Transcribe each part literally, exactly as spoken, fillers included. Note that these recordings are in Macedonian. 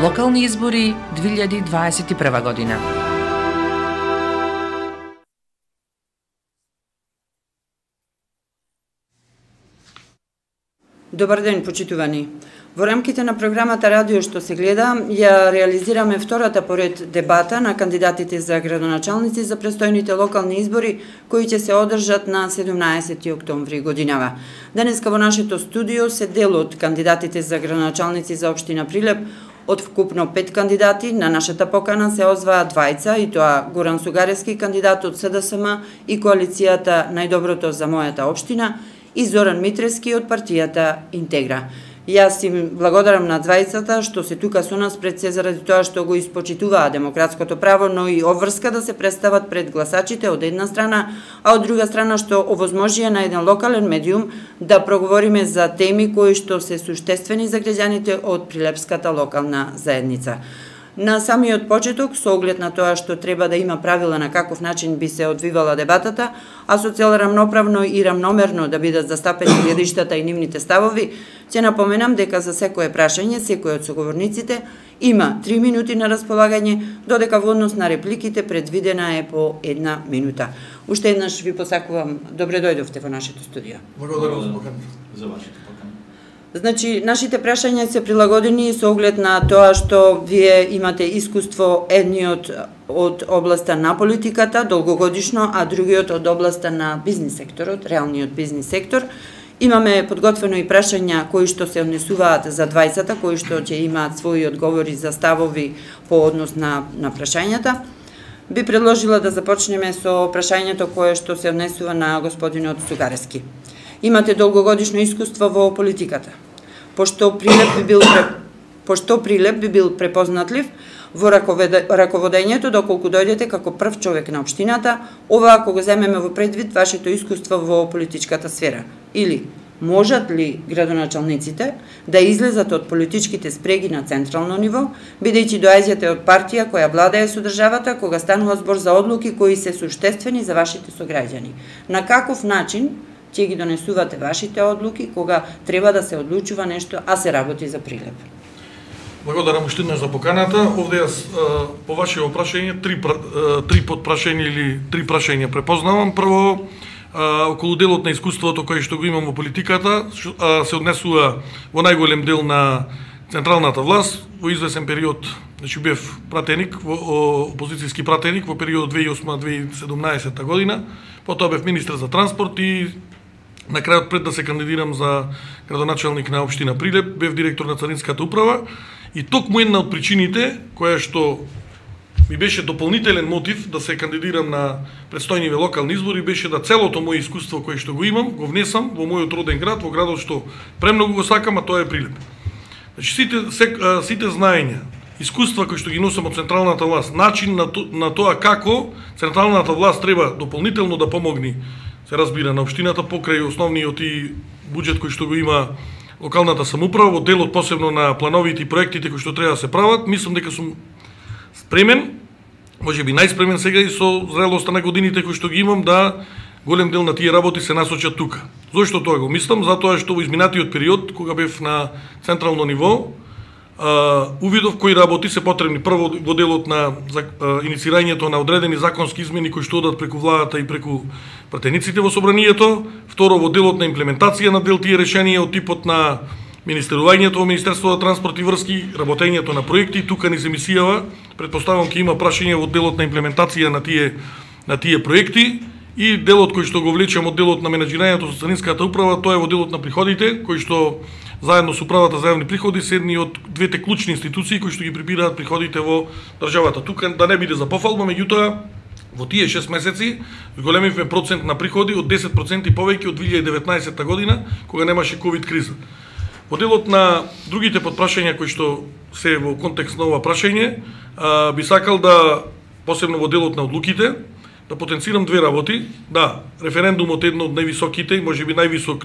Локални избори две илјади дваесет и прва година. Добар ден, почитувани. Во рамките на програмата Радио што се гледа, ја реализираме втората поред дебата на кандидатите за градоначалници за престојните локални избори, кои ќе се одржат на седумнаесети октомври годинава. Денеска во нашето студио се дел од кандидатите за градоначалници за општина Прилеп. Од вкупно пет кандидати на нашата покана се озваа двајца, и тоа Горан Сугаревски, кандидат од СДСМ и коалицијата Најдоброто за мојата општина, и Зоран Митрески од партијата Интегра. Јас им благодарам на двајцата што се тука со нас, пред се заради тоа што го испочитуваа демократското право, но и обврска да се представат пред гласачите од една страна, а од друга страна што овозможија на еден локален медиум да проговориме за теми кои што се суштествени за граѓаните од Прилепската локална заедница. На самиот почеток, со оглед на тоа што треба да има правила на каков начин би се одвивала дебатата, а со цел рамноправно и рамномерно да бидат застапени гледиштата и нивните ставови, ќе напоменам дека за секое прашање, секој од соговорниците има три минути на располагање, додека во однос на репликите предвидена е по една минута. Уште еднаш ви посакувам добре дојдовте во нашето студио. Благодарам за вашето покана. Значи, нашите прашања се прилагодени со оглед на тоа што вие имате искуство, едниот од областа на политиката, долгогодишно, а другиот од областа на бизнис секторот, реалниот бизнис сектор. Имаме подготвено и прашања кои што се однесуваат за двајцата, кои што ќе имаат своји одговори за ставови по однос на, на прашањата. Би предложила да започнеме со прашањето кое што се однесува на господинот Сугаревски. Имате долгогодишно искуство во политиката. Пошто Прилеп би бил пошто Прилеп би бил препознатлив во раководењето доколку дојдете како прв човек на општината, ова ако го земеме во предвид вашето искуство во политичката сфера. Или можат ли градоначалниците да излезат од политичките спреги на централно ниво, бидејќи доаѓате од партија која владее со државата кога станува збор за одлуки кои се суштествени за вашите сограѓани? На каков начин ќе ги донесувате вашите одлуки кога треба да се одлучува нешто, а се работи за Прилеп? Благодарам уште еднаш за поканата. Овде јас по вашето прашање три три подпрашања или три прашања препознавам. Прво, околу делот на искуството кое што го имам во политиката, се однесува во најголем дел на централната власт. Во извесен период, значи бев пратеник, во опозицијски пратеник во период две илјади и осма - две илјади и седумнаесета година. Потоа бев министер за транспорт и на крајот, пред да се кандидирам за градоначалник на општина Прилеп, бев директор на Царинската управа, и токму една од причините која што ми беше дополнителен мотив да се кандидирам на предстојниве локални избори беше да целото моје искуство кое што го имам го внесам во мојот роден град, во градот што премногу го сакам, а тоа е Прилеп. Значи сите сек, сите знаења, искуства кои што ги носам од централната власт, начин на, то, на тоа како централната власт треба дополнително да помогне, се разбира, на општината покрај основниот и буџет кој што го има локалната самоуправа, во делот посебно на плановите и проектите кои што треба да се прават, мислам дека сум спремен, можеби најспремен сега и со зрелоста на годините кои што ги имам да голем дел на тие работи се насочат тука. Зошто тоа го мислам? Затоа што во изминатиот период, кога бев на централно ниво, Uh, увидов кои работи се потребни. Прво во делот на uh, иницирањето на одредени законски измени кои што одат преку владата и преку пратениците во собранието. Второ, во делот на имплементација на дел тие решенија од типот на министерувањето во Министерството за транспорт и врски, работењето на проекти. Тука ни се мисијава, предпоставам ќе има прашање во делот на имплементација на тие на тие проекти. И делот кој што го влечам од делот на менаџирањето со Царинската управа, тоа е во делот на приходите, кои што заедно со управата за јавни приходи се едни од двете клучни институции кои што ги прибираат приходите во државата. Тука да не биде за пофалба, меѓутоа во тие шест месеци зголемивме процент на приходи од десет проценти повеќе од две илјади и деветнаесета година, кога немаше ковид криза. Во делот на другите подпрашања кои што се во контекст на ова прашање, би сакал да, посебно во делот на одлуките, да потенцирам две работи. Да, референдумот е едно од највисоките, можеби највисок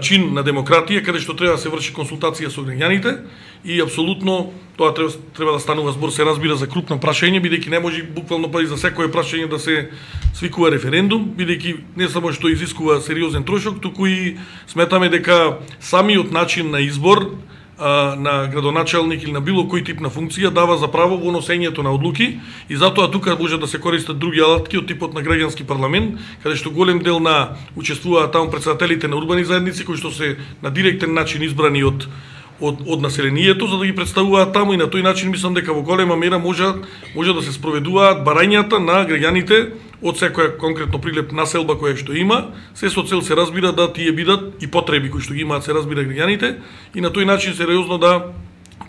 чин на демократија, каде што треба да се врши консултација со граѓаните, и апсолутно тоа треба, треба да станува збор, се разбира, за крупно прашање, бидејќи не може буквално па и за секое прашање да се свикува референдум, бидејќи не само што изискува сериозен трошок, туку и сметаме дека самиот начин на избор а, на градоначалник или на било кој тип на функција дава за право во носењето на одлуки и затоа тука може да се користат други алатки од типот на граѓански парламент, каде што голем дел на учествуваат таму претседателите на урбани заедници кои што се на директен начин избрани од од од населението за да ги представуваат таму и на тој начин мислам дека во голема мера може може да се спроведуваат барањата на граѓаните од секоја конкретно Прилеп населба која што има, се со цел се разбира да тие бидат и потреби кои што ги имаат се разбира граѓаните и на тој начин сериозно да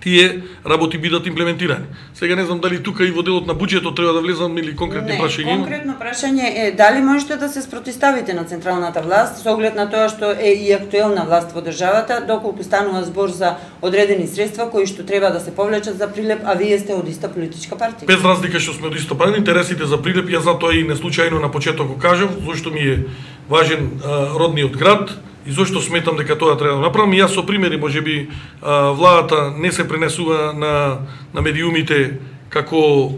тие работи бидат имплементирани. Сега не знам дали тука и во делот на буџетот треба да влезам или конкретни не, прашања. Конкретно прашање е дали можете да се спротиставите на централната власт со оглед на тоа што е и актуелна власт во државата, доколку станува збор за одредени средства кои што треба да се повлечат за Прилеп, а вие сте од иста политичка партија. Без разлика што сме од иста партија, интересите за Прилеп, ја затоа и не случајно на почеток го кажав, зашто ми е важен а, родниот град. И зошто сметам дека тоа треба да направам, јас со примери можеби владата не се пренесува на на медиумите како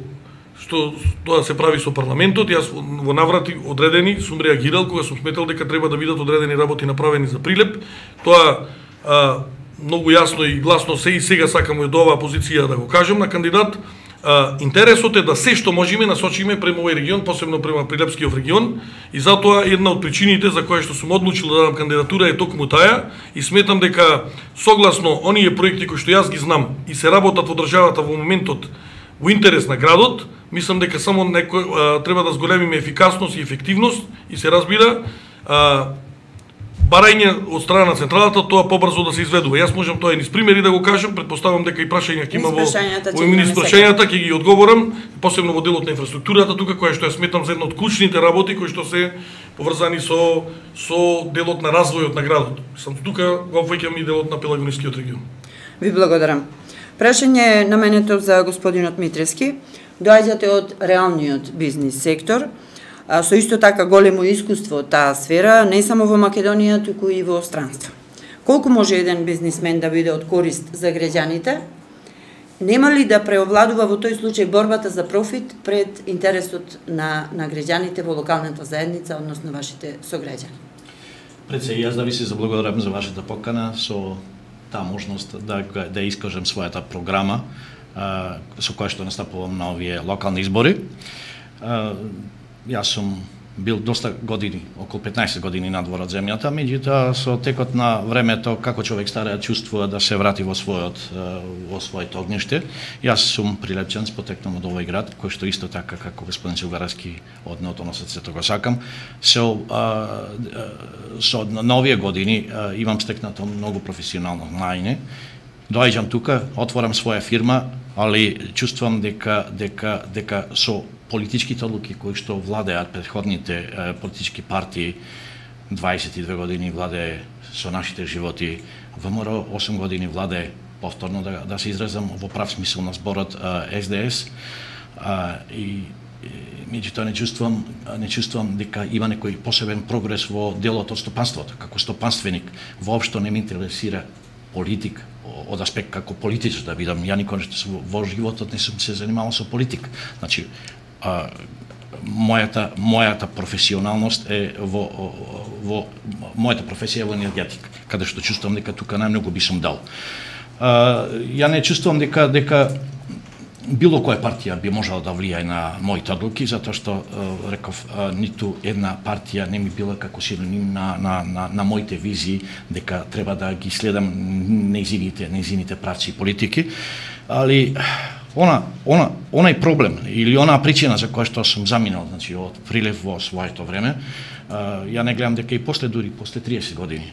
што тоа се прави со парламентот. Јас во наврати одредени сум реагирал кога сум сметал дека треба да бидат одредени работи направени за Прилеп. Тоа а, многу јасно и гласно се и сега сакам од оваа позиција да го кажам на кандидат. Uh, интересот е да се што можеме насочиме према овој регион, посебно према Прилепскиот регион, и затоа една од причините за која што сум одлучил да дадам кандидатура е токму таа и сметам дека согласно оние проекти кои што јас ги знам и се работат во државата во моментот во интерес на градот, мислам дека само некој uh, треба да зголемиме ефикасност и ефективност и се разбира uh, барање од страна на централата тоа побрзо да се изведува. Јас можам тоа и низ примери да го кажам, претпоставам дека и прашања ќе има во во низ прашањата ќе ги одговорам, посебно во делот на инфраструктурата тука која што ја сметам за една од клучните работи кои што се поврзани со со делот на развојот на градот. Сам тука го опфаќам и делот на Пелагонискиот регион. Ви благодарам. Прашање наменето за господинот Митревски. Доаѓате од реалниот бизнис сектор, со исто така големо искуство од таа сфера, не само во Македонија, туку и во странство. Колку може еден бизнисмен да биде од корист за граѓаните? Нема ли да преовладува во тој случај борбата за профит пред интересот на, на граѓаните во локалната заедница, односно вашите сограѓани? Пред се, јас да ви се заблагодарам за вашата покана со таа можност да, да искажам својата програма а, со која што настапувам на овие локални избори. А, Јас сум бил доста години, околу петнаесет години надвор од земјата, меѓутоа со текот на времето како човек стареја чувствува да се врати во својот во своето огниште. Јас сум прилепчан, потекнам од овој град, кој што исто така како господин Чугаровски од неото на срцето го сакам. Со а, со на овие години а, имам стекнато многу професионално знаење. Доаѓам тука, отворам своја фирма, али чувствувам дека дека дека со политичките одлуки кои што владеат претходните е, политички партии, дваесет и две години владее со нашите животи, ВМРО осум години владее, повторно да, да се изразам во прав смисол на зборот е, Ес Де Ес, а, и меѓутоа не чувствувам не чувствувам дека има некој посебен прогрес во делот од стопанството. Како стопанственик воопшто не ме интересира политик од аспект како политичар да бидам. Ја никогаш во животот не сум се занимавал со политик. Значи, а, мојата мојата професионалност е во во мојата професија е во енергетика, каде што чувствувам дека тука најмногу би сум дал. А, ја не чувствувам дека дека било која партија би можела да влијае на моите одлуки, затоа што реков ниту една партија не ми била како синоним на на на, на моите визии дека треба да ги следам нејзините нејзините правци и политики, али она она онај проблем или онаа причина за која што сум заминал, значи од Прилеп во своето време, ја не гледам дека и после дури после триесет години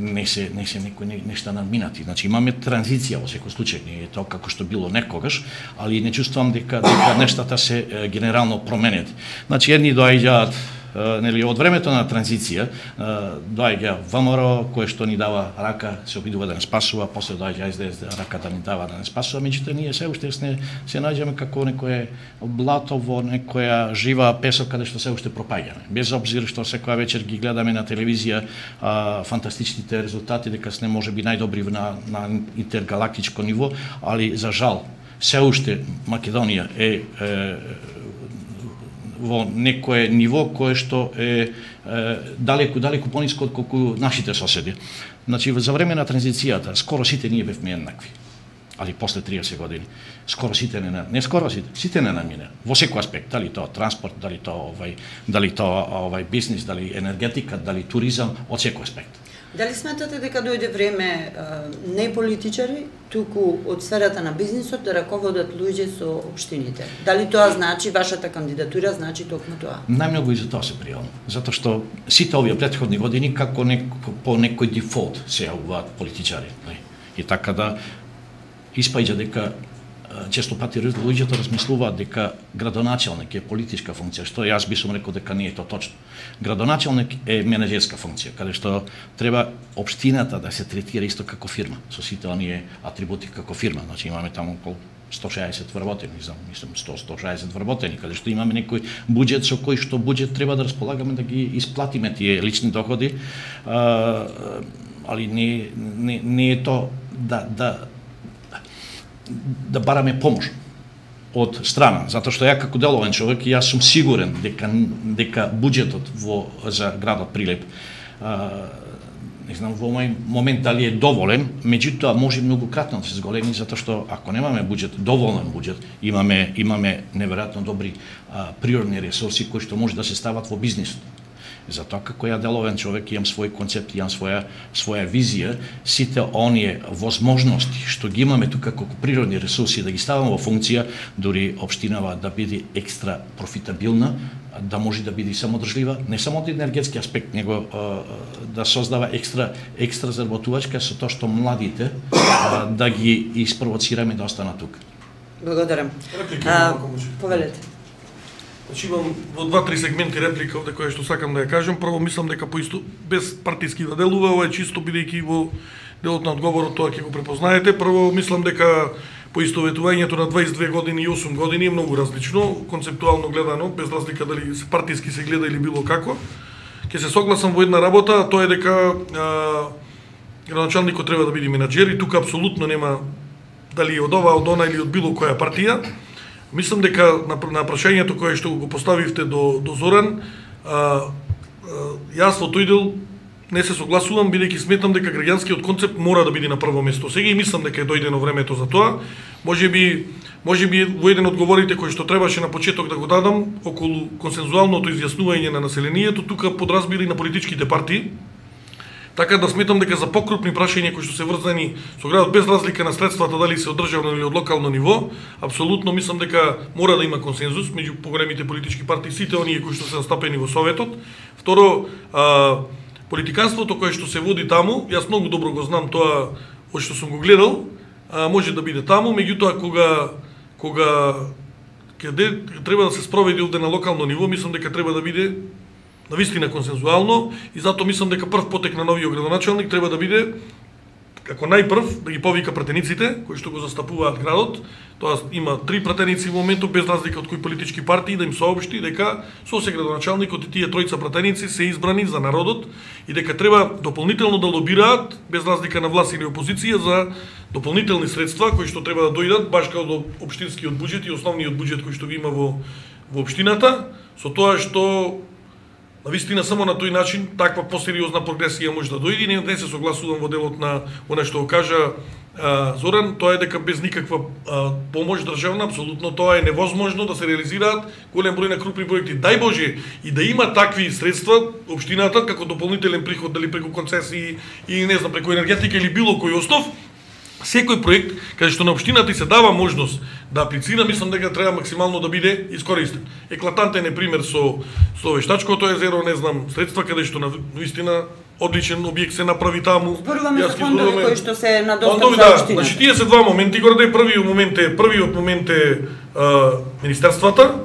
не се не се некои нешта надминати. Значи имаме транзиција во секој случај, не е тоа како што било некогаш, али не чувствувам дека дека нештата се е, генерално променет. Значи едни доаѓаат нели од времето на транзиција, доаѓа ВМРО кое што ни дава рака, се обидува да не спасува, после доаѓа Ес Де Ес рака да ни дава да не спасува, меѓутоа ние се уште се, се наоѓаме како некое блато во некоја жива песок каде што се уште пропаѓаме. Без обзир што секоја вечер ги гледаме на телевизија а, фантастичните резултати дека сме можеби најдобри на на интергалактичко ниво, али за жал се уште Македонија е, е во некое ниво кое што е, е далеку далеку пониско од колку нашите соседи. Значи за време на транзицијата скоро сите ние бевме еднакви. Али после триесет години скоро сите не не скоро сите сите не намине во секој аспект, дали тоа транспорт, дали тоа овај дали тоа овај бизнис, дали енергетика, дали туризам, од секој аспект. Дали сметате дека дојде време не политичари, туку од сферата на бизнисот да раководат луѓе со општините? Дали тоа значи, вашата кандидатура значи токму тоа? Најмногу и за тоа се пријавам, затоа што сите овие претходни години како неко, по некој дефолт се јавуваат политичари. И така да испаѓа дека често пати луѓето размислуваат дека градоначелник е политичка функција, што јас би сум рекол дека не е тоа точно. Градоначелник е менеджерска функција, каде што треба општината да се третира исто како фирма, со сите оние атрибути како фирма. Значи имаме таму околу сто шеесет вработени, знам, мислам сто до сто шеесет вработени, каде што имаме некој буџет со кој што буџет треба да располагаме да ги исплатиме тие лични доходи, а, али не не не е тоа да да да бараме помош од страна, затоа што ја како деловен човек јас сум сигурен дека дека буџетот во за градот Прилеп а, не знам во овој момент дали е доволен, меѓутоа може многократно да се зголеми затоа што ако немаме буџет, доволен буџет, имаме имаме неверојатно добри а, природни ресурси кои што може да се стават во бизнисот. Затоа како ја деловен човек имам свој концепт, имам своја своја визија, сите оние возможности што ги имаме тука како природни ресурси да ги ставаме во функција, дури општинава да биде екстра профитабилна, да може да биде самодржлива, не само од енергетски аспект, него да создава екстра екстра заработувачка со тоа што младите да ги испровоцираме да останат тука. Благодарам. Реплика, повелете. Значи имам во два-три сегменти реплика овде која што сакам да ја кажем. Прво мислам дека поисто без партиски да делува, ова е чисто бидејќи во делот на одговорот тоа ќе го препознаете. Прво мислам дека поистоветувањето на дваесет и две години и осум години е многу различно, концептуално гледано, без разлика дали се партиски се гледа или било како. Ќе се согласам во една работа, тоа е дека градоначалникот треба да биде менаџер и тука апсолутно нема дали од ова, од она или од било која партија. Мислам дека на, на прашањето кое што го поставивте до, до Зоран, а, а, јас во тој дел не се согласувам, бидејќи сметам дека граѓанскиот концепт мора да биде на прво место. Сега и мислам дека е дојдено времето за тоа. Може би, може би во еден од говорите кој што требаше на почеток да го дадам, околу консензуалното изјаснување на населението, тука подразбили на политичките партии. Така да сметам дека за покрупни прашања кои што се врзани со градот без разлика на средствата дали се од државно или од локално ниво, апсолутно мислам дека мора да има консензус меѓу поголемите политички партии, сите оние кои што се застапени во Советот. Второ, а, политиканството кое што се води таму, јас многу добро го знам тоа од што сум го гледал, а, може да биде таму, меѓутоа кога кога каде треба да се спроведи овде на локално ниво, мислам дека треба да биде навистина консензуално и затоа мислам дека прв потек на новиот градоначалник треба да биде како најпрв да ги повика пратениците кои што го застапуваат градот. Тоа има три пратеници во моментот без разлика од кои политички партии да им соопшти дека со се градоначалникот и тие тројца пратеници се избрани за народот и дека треба дополнително да лобираат без разлика на власт или опозиција за дополнителни средства кои што треба да дојдат баш како од општинскиот буџет и основниот буџет кој што го има во во општината, со тоа што навистина само на тој начин таква посериозна прогресија може да дојде. Не, не се согласувам во делот на она што го кажа а, Зоран, тоа е дека без никаква а, помош државна, апсолутно тоа е невозможно да се реализираат голем број на крупни проекти. Дај Боже и да има такви средства општината како дополнителен приход дали преку концесии и не знам преку енергетика или било кој основ. Секој проект каде што на општината се дава можност да аплицира, мислам дека треба максимално да биде искористен. Еклатантен е пример со со Вештачкото езеро, не знам, средства каде што на вистина одличен објект се направи таму. Зборуваме за фондови кои што се на достап фондови, за да, општината. Значи тие се два моменти, горе првиот момент е првиот момент е а, министерствата,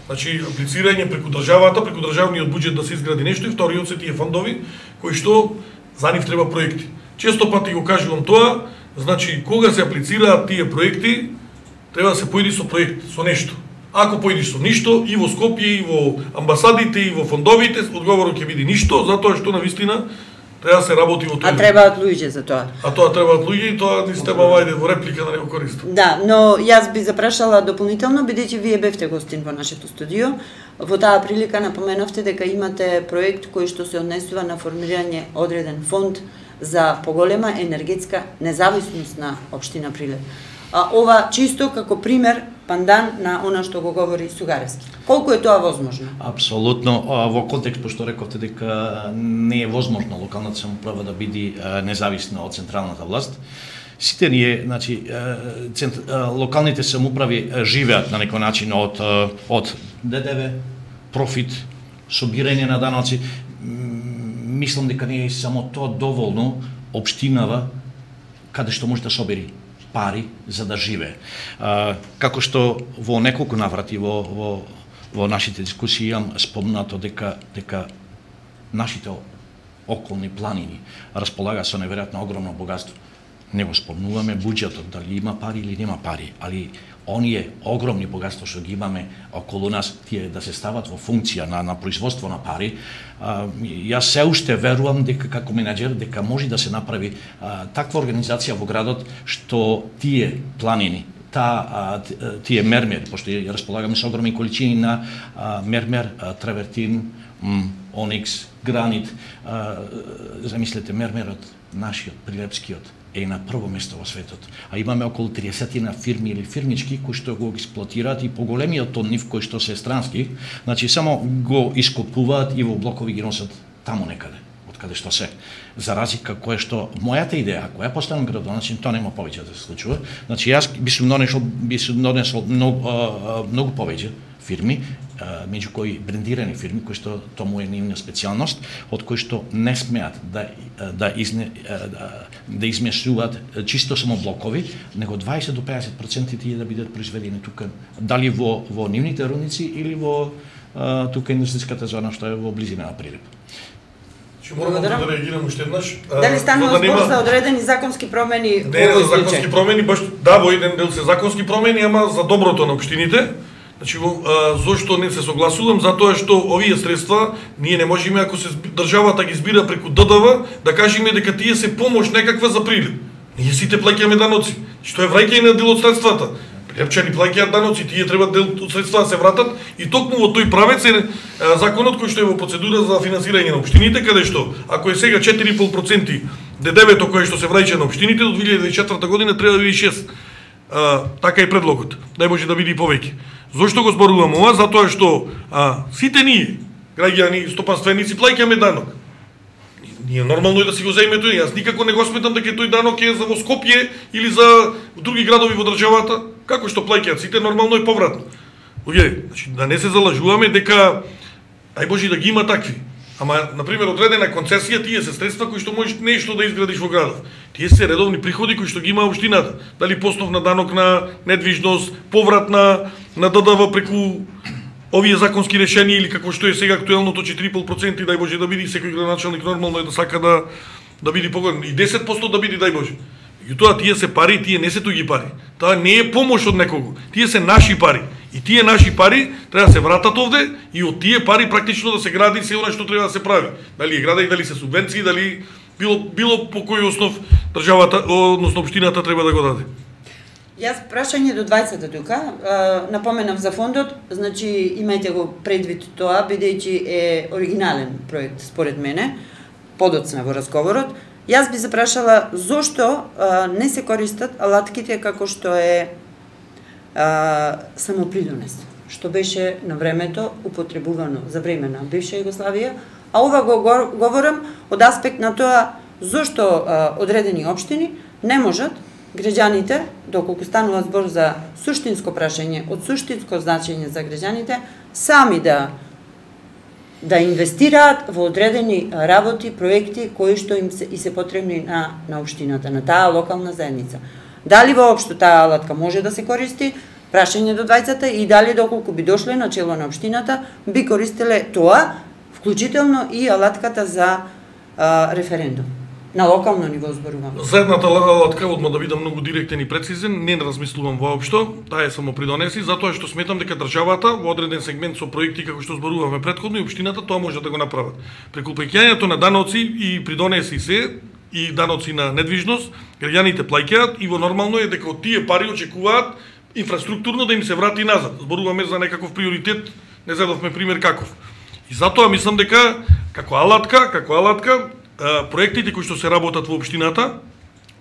значи аплицирање преку државата, преку државниот буџет да се изгради нешто и вториот се тие фондови кои што за нив треба проекти. Често пати го кажувам тоа. Значи, кога се аплицираат тие проекти, треба да се поиди со проект, со нешто. Ако поидиш со ништо, и во Скопје, и во амбасадите, и во фондовите, одговорот ќе биде ништо, затоа што навистина треба да се работи во тоа. А требаат луѓе за тоа. А тоа требаат луѓе и тоа ни стеба вајде во реплика да не го користам. Да, но јас би запрашала дополнително, бидејќи вие бевте гостин во нашето студио. Во таа прилика напоменавте дека имате проект кој што се однесува на формирање одреден фонд за поголема енергетска независност на општина Прилеп. А, ова чисто како пример пандан на она што го говори Сугаревски. Колку е тоа возможно? Апсолутно. Во контекст, пошто рековте дека не е возможно локалната самоуправа да биде независна од централната власт, сите ние, значи, цент, локалните самоуправи живеат на некој начин од од Д Д В, профит, собирање на даноци. Мислам дека не е само тоа доволно општинава каде што може да собери пари за да живее. Како што во неколку наврати во во во нашите дискусии имам спомнато дека дека нашите околни планини располага со неверојатно огромно богатство. Не го спомнуваме буџетот, дали има пари или нема пари, али оние огромни богатства што ги имаме околу нас, тие да се стават во функција на, на производство на пари, а, јас се уште верувам дека како менаџер дека може да се направи а, таква организација во градот што тие планини, та тие мермери, пошто ја располагаме со огромни количини на а, мермер, а, травертин, м, оникс, гранит, а, замислете мермерот нашиот прилепскиот е на прво место во светот. А имаме околу триесет фирми или фирмички кои што го експлоатираат и поголемиот од нив кои што се странски, значи само го ископуваат и во блокови ги носат таму некаде, од каде што се. За разлика која што мојата идеја, ако ја постанам градоначелник, тоа нема повеќе да се случува. Значи јас би сум донесол би сум донесол многу, многу повеќе фирми, меѓу кои брендирани фирми, кои што тоа му е нивна специјалност, од кои што не смеат да да изне да, да измесуваат чисто само блокови, него дваесет до пеесет проценти тие да бидат произведени тука, дали во во нивните рудници или во а, тука индустријската зона што е во близина на Прилеп. Ќе морам да реагирам уште еднаш. Дали станува збор за одредени законски промени? Не, за законски промени, баш да, во еден дел се законски промени, ама за доброто на општините. Значи, а, зошто не се согласувам? Затоа што овие средства ние не можеме, ако се државата ги збира преку Д Д В, да кажеме дека тие се помош некаква за Прилеп. Ние сите плаќаме даноци. Што е враќање на дел од средствата. Прилепчани плаќаат даноци, тие треба дел од средства да се вратат и токму во тој правец е а, законот кој што е во процедура за финансирање на општините, каде што ако е сега четири и пол проценти Д Д В-то кое што се враќа на општините до две илјади и четврта година треба да биде шест. А, така е предлогот. Дај може да биде и повеќе. Зошто го зборувам ова? Затоа што а, сите ние, граѓани, стопанственици, плаќаме данок. Ние нормално е да си го земеме тој. Јас никако не го сметам дека тој данок е за во Скопје или за други градови во државата. Како што плаќаат сите, нормално е повратно. Оѓе, значи, да не се залажуваме дека ај Боже да ги има такви. Ама, например, одредена концесија, тие се средства кои што можеш нешто да изградиш во градов. Тие се редовни приходи кои што ги има општината. Дали поснов на данок на недвижност, поврат на, на Д Д В преку овие законски решенија или како што е сега актуелното четири и пол проценти, дај Боже да биде, секој градоначелник нормално е да сака да да биде поголем. И десет проценти да биде, дај Боже. И тоа тие се пари, тие не се туѓи пари. Тоа не е помош од некого. Тие се наши пари. И тие наши пари треба да се вратат овде и од тие пари практично да се гради се она што треба да се прави. Дали е градење, дали се субвенции, дали било било по кој основ државата, односно општината треба да го даде. Јас прашање до двајцата тука, напоменав за фондот, значи имајте го предвид тоа, бидејќи е оригинален проект според мене, подоцна во разговорот. Јас би запрашала зошто а, не се користат алатките како што е а, самопридонес, што беше на времето употребувано за време на бивша Југославија, а ова го говорам од аспект на тоа зошто а, одредени општини не можат граѓаните, доколку станува збор за суштинско прашање, од суштинско значење за граѓаните, сами да да инвестираат во одредени работи, проекти кои што им се и се потребни на на општината, на таа локална заедница. Дали воопшто таа алатка може да се користи? Прашање до двајцата и дали доколку би дошле на чело на општината би користеле тоа, вклучително и алатката за а, референдум. На локално ниво зборувам. За едната алатка, одма да бидам многу директен и прецизен, не размислувам воопшто, таа е само придонеси, затоа што сметам дека државата во одреден сегмент со проекти како што зборувавме претходно и општината тоа може да го направат. Преку плаќањето на даноци и придонеси се и даноци на недвижност, граѓаните плаќаат и во нормално е дека од тие пари очекуваат инфраструктурно да им се врати назад. Зборуваме за некаков приоритет не зедовме пример каков. И затоа мислам дека како алатка, како алатка, проектите кои што се работат во општината,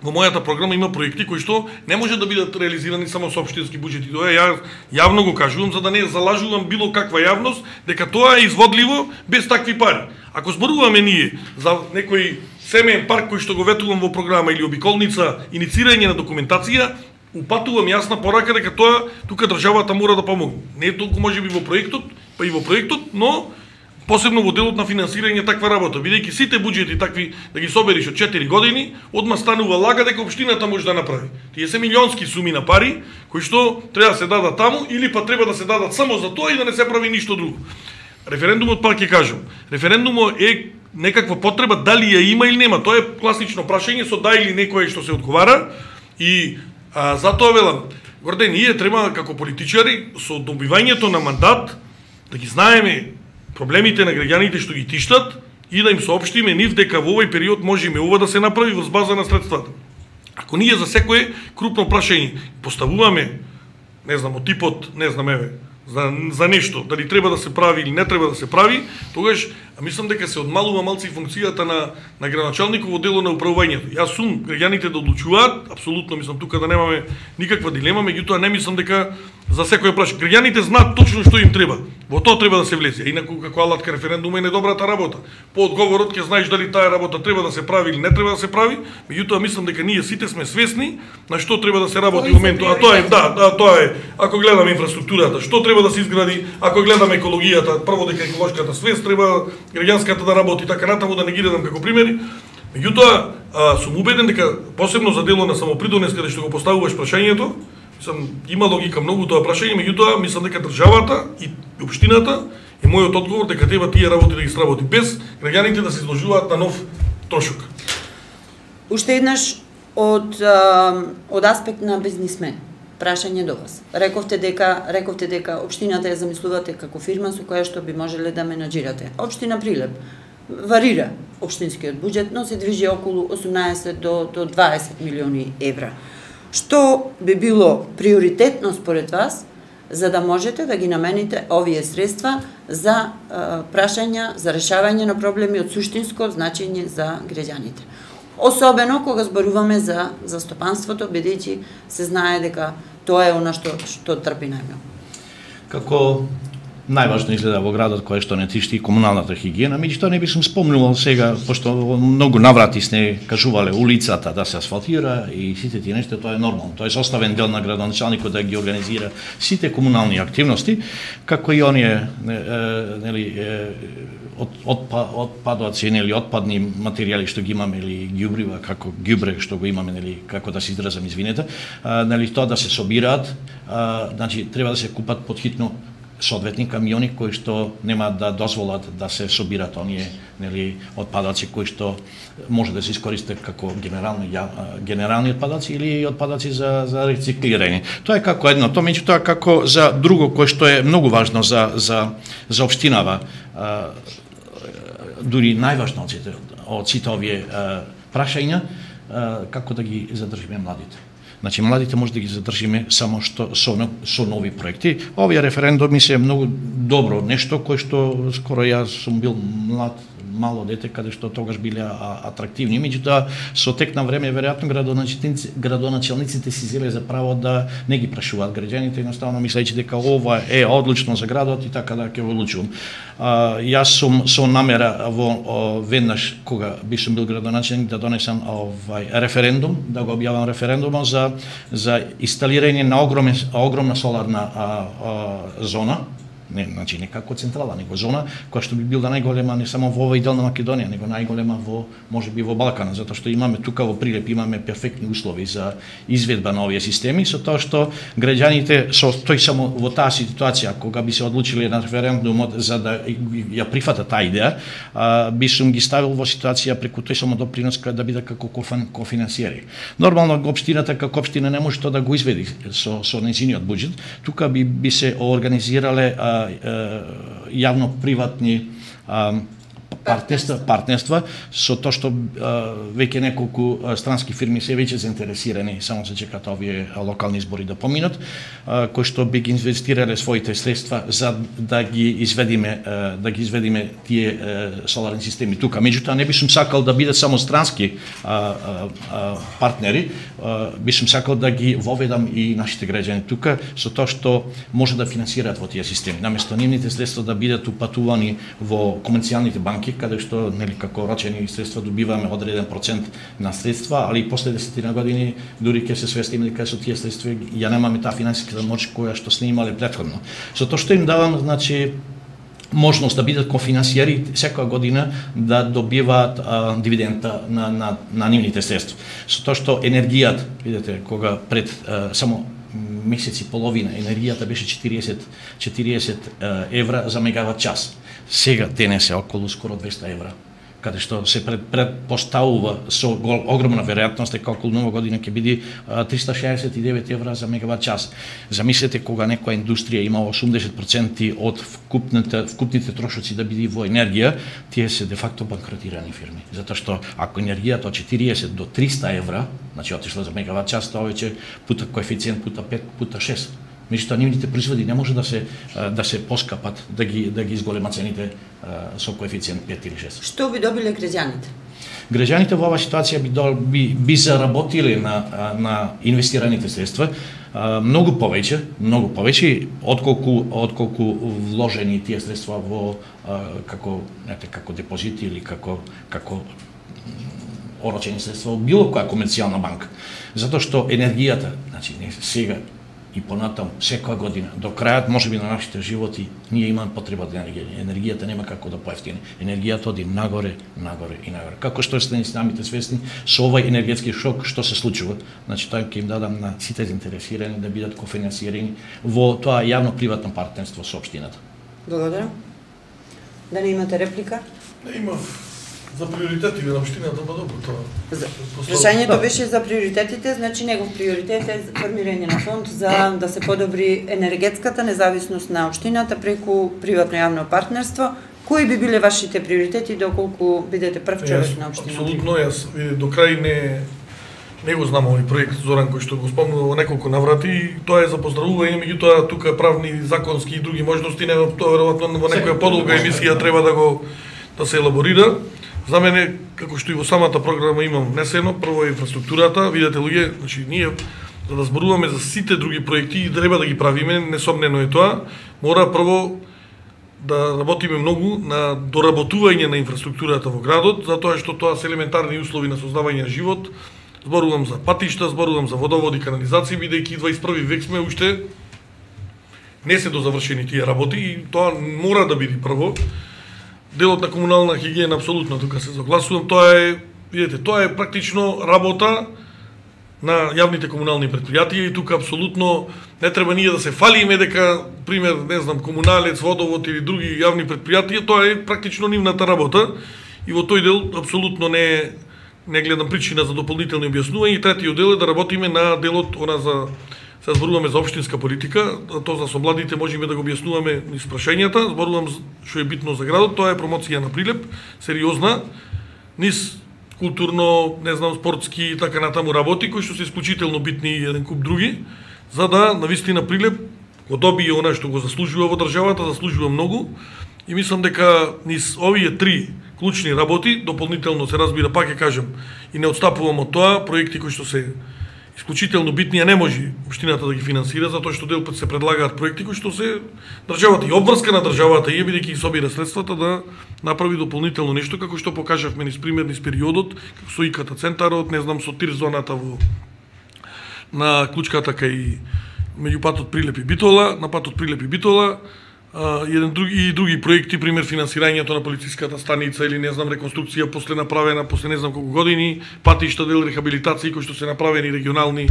во мојата програма има проекти кои што не може да бидат реализирани само со општински буџети. Тоа ја јавно го кажувам за да не залажувам било каква јавност дека тоа е изводливо без такви пари. Ако зборуваме ние за некој семеен парк кој што го ветувам во програма или обиколница, иницирање на документација, упатувам јасна порака дека тоа тука државата мора да помогне. Не е толку можеби во проектот, па и во проектот, но посебно во делот на финансирање таква работа, бидејќи сите буџети такви да ги собериш од четири години, одма станува лага дека општината може да направи. Тие се милионски суми на пари кои што треба да се дадат таму или па треба да се дадат само за тоа и да не се прави ништо друго. Референдумот, пак ќе кажам, референдумот е некаква потреба дали ја има или нема. Тоа е класично прашање со да или некој што се одговара и а, затоа велам, горде ние треба како политичари со добивањето на мандат да ги знаеме проблемите на граѓаните што ги тиштат и да им соопштиме нив дека во овој период можеме ова да се направи врз база на средствата. Ако ние за секое крупно прашање поставуваме, не знам, од типот, не знам, еве, за, за нешто, дали треба да се прави или не треба да се прави, тогаш мислам дека се одмалува малци функцијата на, на градоначалникот во дело на управувањето. Јас сум граѓаните да одлучуваат, апсолутно мислам тука да немаме никаква дилема, меѓутоа не мислам дека за секој прашање. Граѓаните знаат точно што им треба. Во тоа треба да се влезе. Инаку како алатка референдум е недобрата работа. По одговорот ќе знаеш дали таа работа треба да се прави или не треба да се прави, меѓутоа мислам дека ние сите сме свесни на што треба да се работи во моментот. А тоа е, да, да, тоа е, ако гледаме инфраструктурата, што треба да се изгради, ако гледаме екологијата, прво дека еколошката свест треба граѓанската да работи, така натаму да не ги дадам како примери. Меѓутоа, сум убеден дека посебно за дело на самопридонес каде што го поставуваш прашањето, мислам има логика многу тоа прашање, меѓутоа мислам дека државата и општината е мојот одговор дека треба тие работи да ги сработи без граѓаните да се изложуваат на нов трошок. Уште еднаш од од аспект на бизнисмен. Прашање до вас. Рековте дека рековте дека општината ја замислувате како фирма со која што би можеле да менаџирате. Општина Прилеп варира општинскиот буџет, но се движи околу осумнаесет до до дваесет милиони евра. Што би било приоритетно според вас за да можете да ги намените овие средства за а, прашања, за решавање на проблеми од суштинско значење за граѓаните? Особено кога зборуваме за застапанството, бидејќи се знае дека тоа е она што што трпи најмногу. Како најважно изгледа во градот кој што не тишти комуналната хигиена, меѓутоа не би сум спомнувал сега, пошто многу наврати сте кажувале улицата да се асфалтира и сите тие нешта, тоа е нормално. Тоа е составен дел на градоначалникот да ги организира сите комунални активности, како и оние нели од отпадоци нели отпадни материјали што ги имаме или ѓубрива како ѓубре што го имаме нели како да се изразам извинете, нели тоа да се собираат, значи треба да се купат потхитно соодветни камиони кои што нема да дозволат да се собират оние нели отпадоци кои што може да се искористат како генерални генерални отпадоци или отпадоци за за рециклирање. Тоа е како едно, тоа меѓутоа како за друго кое што е многу важно за за за општинава, дури најважно од сите од сите овие прашања, како да ги задржиме младите. Значи, младите може да ги задржиме само што со, со нови проекти. Овие референдуми се многу добро нешто кое што скоро јас сум бил млад, мало дете, каде што тогаш биле атрактивни, меѓутоа со тек на време веројатно градоначалниците, градоначалниците си зеле за право да не ги прашуваат граѓаните, едноставно мислејќи дека ова е одлично за градот и така да ќе го одлучувам. А, јас сум со намера во о, веднаш кога би сум бил градоначалник да донесам овај референдум, да го објавам референдумот за за инсталирање на огромна огромна соларна а, а, зона. Не, значи не како централа, него зона која што би била најголема не само во овој дел на Македонија, него најголема во можеби во Балканот, затоа што имаме тука во Прилеп имаме перфектни услови за изведба на овие системи, со тоа што граѓаните со тој само во таа ситуација кога би се одлучиле на референдумот за да ја прифатат таа идеја, а, би сум ги ставил во ситуација преку тој само допринос да биде како кофинансиери. Нормално општината како општина не може тоа да го изведи со со нејзиниот буџет, тука би би се организирале а, јавно-приватни партнерства, партнерства со тоа што а, веќе неколку а, странски фирми се веќе заинтересирани, само се чекаат овие локални избори да поминат, а, кои што би ги инвестирале своите средства за да ги изведиме а, да ги изведиме тие а, соларни системи тука. Меѓутоа не би сум сакал да бидат само странски а, а, а, партнери, а, би сум сакал да ги воведам и нашите граѓани тука со тоа што може да финансираат во тие системи. Наместо нивните средства да бидат упатувани во комерцијалните банки, каде што нели како рочени средства добиваме одреден процент на средства, али и после десетина години дури ќе се свестиме дека со тие средства ја немаме таа финансиска моќ која што сме имале претходно. Со тоа што им давам, значи, можност да бидат кофинансиери секоја година да добиваат а, дивидента на, на, на нивните средства. Со тоа што енергијата, видите, кога пред а, само месец и половина енергијата беше четириесет евра за мегават час. Сега денес е околу скоро двесте евра, каде што се пред, предпоставува со гол, огромна веројатност дека околу нова година ќе биде триста шеесет и девет евра за мегават час. Замислете кога некоја индустрија има осумдесет проценти од вкупните, вкупните трошоци да биде во енергија, тие се де факто банкротирани фирми. Затоа што ако енергијата од четириесет до триста евра, значи отишла за мегават час, тоа веќе пута коефициент пута пет, пута шест. Меѓутоа нивните производи не може да се да се поскапат, да ги да ги изголемат цените со коефициент пет или шест. Што би добиле граѓаните? Граѓаните во оваа ситуација би би, би заработиле на на инвестираните средства многу повеќе, многу повеќе отколку отколку вложени тие средства во како знаете како депозити или како како орочени средства во било која комерцијална банка. Затоа што енергијата, значи не сега и понатам секоја година до крајот можеби на нашите животи ние имаме потреба од енергија. Енергијата нема како да поевтини. Енергијата оди нагоре, нагоре и нагоре. Како што сте ни самите свесни со овој енергетски шок што се случува. Значи тоа ќе им дадам на сите заинтересирани да бидат кофинансирани во тоа јавно-приватно партнерство со општината. Благодарам. Дали имате реплика? Не има. За приоритетите на општината, па добро тоа. Прашањето беше за приоритетите, значи негов приоритет е формирање на фонд за да се подобри енергетската независност на општината преку приватно јавно партнерство. Кои би биле вашите приоритети доколку бидете прв човек на општината? Апсолутно, јас до крај не не го знам овој проект Зоран кој што го спомнува во неколку наврати и тоа е за поздравување, меѓутоа тука правни, законски и други можности, не тоа веројатно во некоја подолга емисија треба да го да се елаборира. За мене, како што и во самата програма имам внесено, прво е инфраструктурата, видете луѓе, значи ние за да зборуваме за сите други проекти и треба да ги правиме, несомнено е тоа, мора прво да работиме многу на доработување на инфраструктурата во градот, затоа што тоа се елементарни услови на создавање на живот. Зборувам за патишта, зборувам за водоводи, канализации, бидејќи дваесет и први век сме, уште не се дозавршени тие работи и тоа мора да биде прво. Делот на комунална хигиена, апсолутно, тука се согласувам, тоа е, видите, тоа е практично работа на јавните комунални предпријатија и тука апсолутно не треба ние да се фалиме дека, пример, не знам, комуналец, водовод или други јавни предпријатија, тоа е практично нивната работа и во тој дел апсолутно не не гледам причина за дополнителни објаснувања и третиот дел е да работиме на делот она за се зборуваме за општинска политика, тоа за со младите можеме да го објаснуваме низ прашањата, зборувам што е битно за градот, тоа е промоција на Прилеп, сериозна, низ културно, не знам, спортски и така натаму работи, кои што се исклучително битни и еден куп други, за да навистина Прилеп го добие она што го заслужува во државата, заслужува многу и мислам дека низ овие три клучни работи, дополнително се разбира, пак ќе кажам, и не отстапувам од тоа, проекти кои што се исклучително битни, а не може општината да ги финансира, затоа што дел пат се предлагаат проекти кои што се државата и обврска на државата и бидејќи ги собира средствата да направи дополнително нешто, како што покажавме низ пример низ периодот, како со ИКТ центарот, не знам, со тир зоната во на клучката кај меѓу патот Прилеп и Битола, на патот Прилеп и Битола, Uh, еден други и други проекти, пример финансирањето на полициската станица или не знам реконструкција после направена после не знам колку години, патишта дел рехабилитации кои што се направени регионални.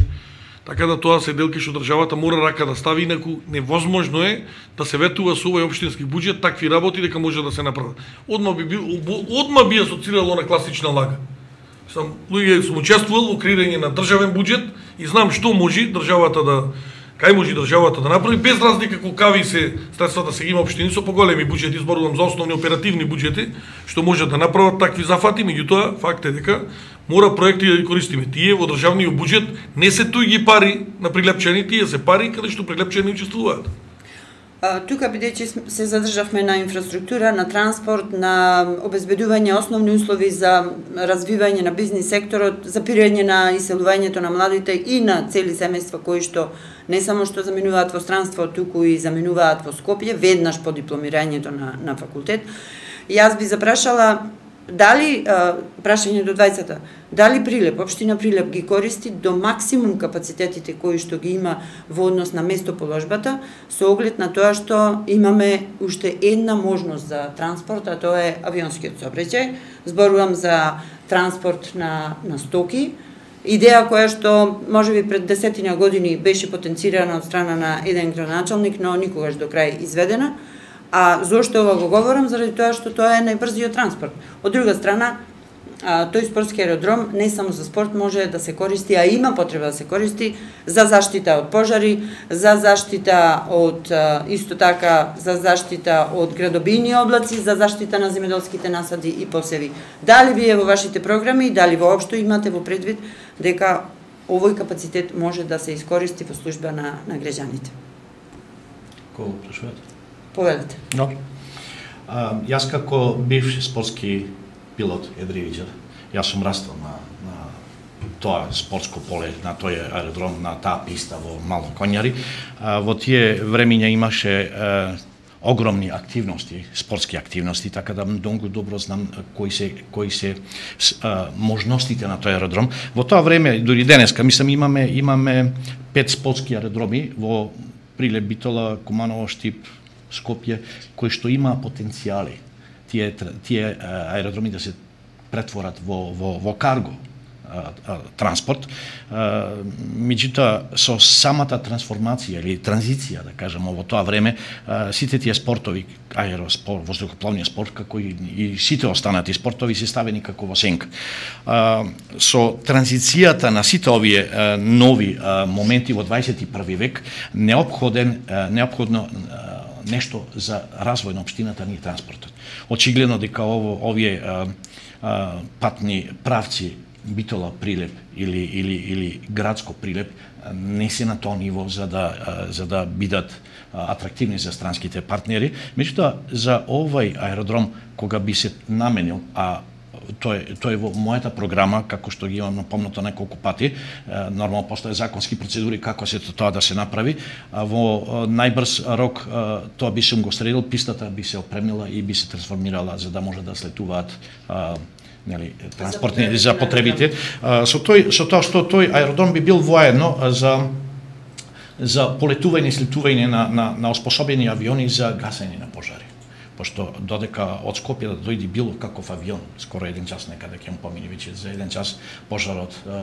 Така да тоа се делки што државата мора рака да стави, инаку невозможно е да се ветува со овој општински буџет такви работи дека може да се направат. Одма би бил одма би асоцирало на класична лага. Сам луѓе сум учествувал во креирање на државен буџет и знам што може државата да кај може државата да направи, без разлика колкави се средствата се има општини со поголеми буџети, зборувам за основни оперативни буџети, што може да направат такви зафати, меѓутоа факт е дека мора проекти да ги користиме. Тие во државниот буџет не се туѓи пари на прилепчени, тие се пари каде што прилепчени учествуваат. Тука, бидејќи се задржавме на инфраструктура, на транспорт, на обезбедување основни услови за развивање на бизнис секторот, запирање на иселувањето на младите и на цели семејства кои што не само што заминуваат во странство, туку и заминуваат во Скопје, веднаш по дипломирањето на, на факултет. Јас би запрашала дали, прашање до двајцата, дали Прилеп, општина Прилеп ги користи до максимум капацитетите кои што ги има во однос на местоположбата, со оглед на тоа што имаме уште една можност за транспорт, а тоа е авионскиот сообраќај. Зборувам за транспорт на, на стоки, идеја која што можеби пред десетина години беше потенцирана од страна на еден градоначалник, но никогаш до крај изведена. А зошто ова го говорам? Заради тоа што тоа е најбрзиот транспорт. Од друга страна, тој спортски аеродром не само за спорт може да се користи, а има потреба да се користи за заштита од пожари, за заштита од исто така за заштита од градобијни облаци, за заштита на земјоделските насади и посеви. Дали вие во вашите програми, дали воопшто имате во предвид дека овој капацитет може да се искористи во служба на на граѓаните? Кој прашувате? Повелете. No. А, јас како бивш спортски пилот едривиџар, јас сум растал на, на тоа спортско поле, на тој аеродром, на таа писта во Мало Коњари. А, во тие времиња имаше а, огромни активности, спортски активности, така да многу добро знам кои се кои се а, можностите на тој аеродром. Во тоа време, дури денеска, мислам имаме имаме пет спортски аеродроми во Прилеп, Битола, Куманово, Штип, Скопје, кои што има потенцијали тие тие аеродроми да се претворат во во во карго а, а, транспорт. Меѓутоа со самата трансформација или транзиција, да кажеме, во тоа време а, сите тие спортови, аероспорт, воздухопловниот спорт, како и, и сите останати спортови се ставени како во сенка. А, со транзицијата на сите овие а, нови а, моменти во дваесет и први век неопходен а, неопходно а, нешто за развој на општината ни транспортот. Очигледно дека ово овие а, а, патни правци Битола Прилеп или или или градско Прилеп не се на тоа ниво за да а, за да бидат а, атрактивни за странските партнери. Меѓутоа за овој аеродром кога би се наменил, а тоа е тоа е во мојата програма, како што ги имам напомнато неколку пати, нормално постојат законски процедури како се тоа да се направи. Во најбрз рок тоа би се го средил, пистата би се опремила и би се трансформирала за да може да слетуваат нели транспортни за потребите. Со тој со тоа што тој аеродром би бил воедно за за полетување и слетување на на на оспособени авиони за гасење на пожари. Пошто додека од Скопје да дојде било каков авион, скоро еден час некаде ќе му помине веќе за еден час, пожарот е,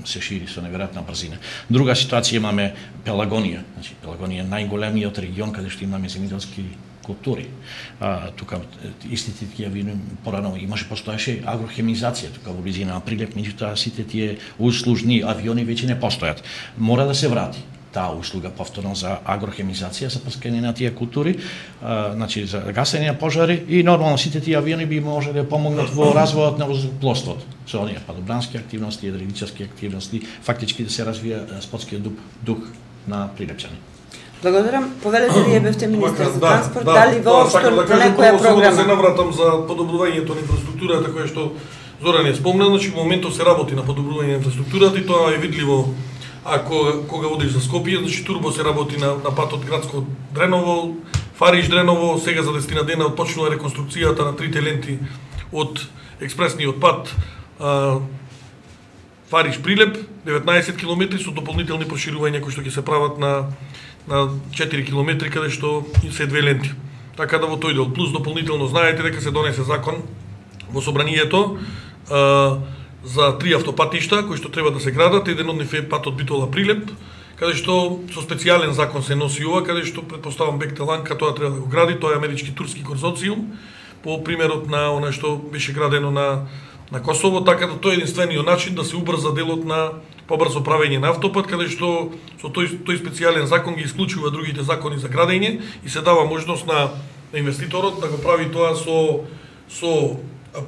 се шири со неверојатна брзина. Друга ситуација имаме Пелагонија. Значи Пелагонија е најголемиот регион каде што имаме земјоделски култури. А, тука истите тие авиони порано имаше постоеше агрохемизација тука во близина на Прилеп, меѓутоа сите тие услужни авиони веќе не постојат. Мора да се врати таа услуга повторно за агрохемизација, за прскање на тие култури, а, значи за гасење на пожари и нормално сите тие авиони би можеле да помогнат во развојот на воздухопловството. Со оние падобрански активности, едривичарски активности, фактички да се развија спортскиот дух, дух на прилепчани. Благодарам. Повелете вие бевте министер за да, транспорт, да, дали воопшто да, по некоја програма? Да се навратам за подобрувањето на инфраструктурата која што Зоран е спомна, значи во моментов се работи на подобрување на инфраструктурата и тоа е видливо. Ако кога одиш за Скопје, значи турбо се работи на, на патот градско Дреново, Фариш Дреново, сега за десетина дена почнува реконструкцијата на трите ленти од експресниот пат а, Фариш Прилеп, деветнаесет километри со дополнителни проширувања кои што ќе се прават на на четири километри каде што се две ленти. Така да во тој дел плюс дополнително знаете дека се донесе закон во собранието а, за три автопатишта кои што треба да се градат, еден од нив е патот Битола Прилеп, каде што со специјален закон се носи ова, каде што претпоставам Бехтеланка тоа треба да го гради, тоа е амерички турски конзорциум по примерот на она што беше градено на на Косово, така да тоа е единствениот начин да се убрза делот на побрзо правење на автопат, каде што со тој тој специјален закон ги исклучува другите закони за градење и се дава можност на, на инвеститорот да го прави тоа со со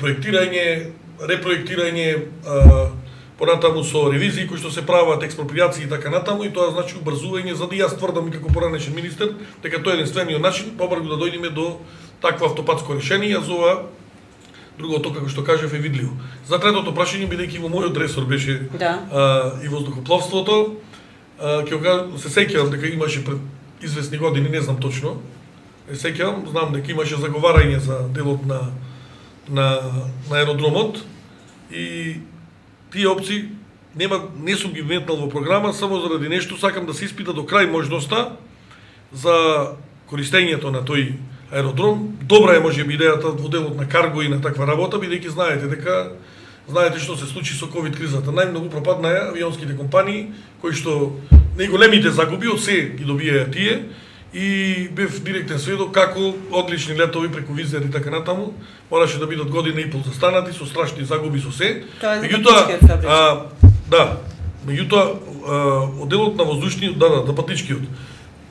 проектирање, репроектирање, а, понатаму со ревизии кои што се прават, експроприации и така натаму, и тоа значи убрзување, за да јас тврдам како поранешен министер дека тоа е единствениот начин побрзо да дојдеме до такво автопатско решение. Јас ова другото, како што кажав, е видливо. За третото прашање, бидејќи во мојот ресор беше да. а, и воздухопловството, а, ќе се сеќавам дека имаше пред известни години, не знам точно, се сеќавам, знам дека имаше заговарање за делот на на на аеродромот и тие опции нема, не сум ги вметнал во програма само заради нешто, сакам да се испита до крај можноста за користењето на тој аеродром. Добра е можеби идејата во делот на карго и на таква работа, бидејќи знаете дека знаете што се случи со ковид кризата. Најмногу пропаднаа авионските компании кои што најголемите загуби од се ги добијаја тие и бев директен сведок како одлични летови преку Визер и така натаму мораше да бидат година и пол застанати со страшни загуби со се. Меѓутоа, да, меѓутоа одделот на воздушниот, да, да, да патничкиот.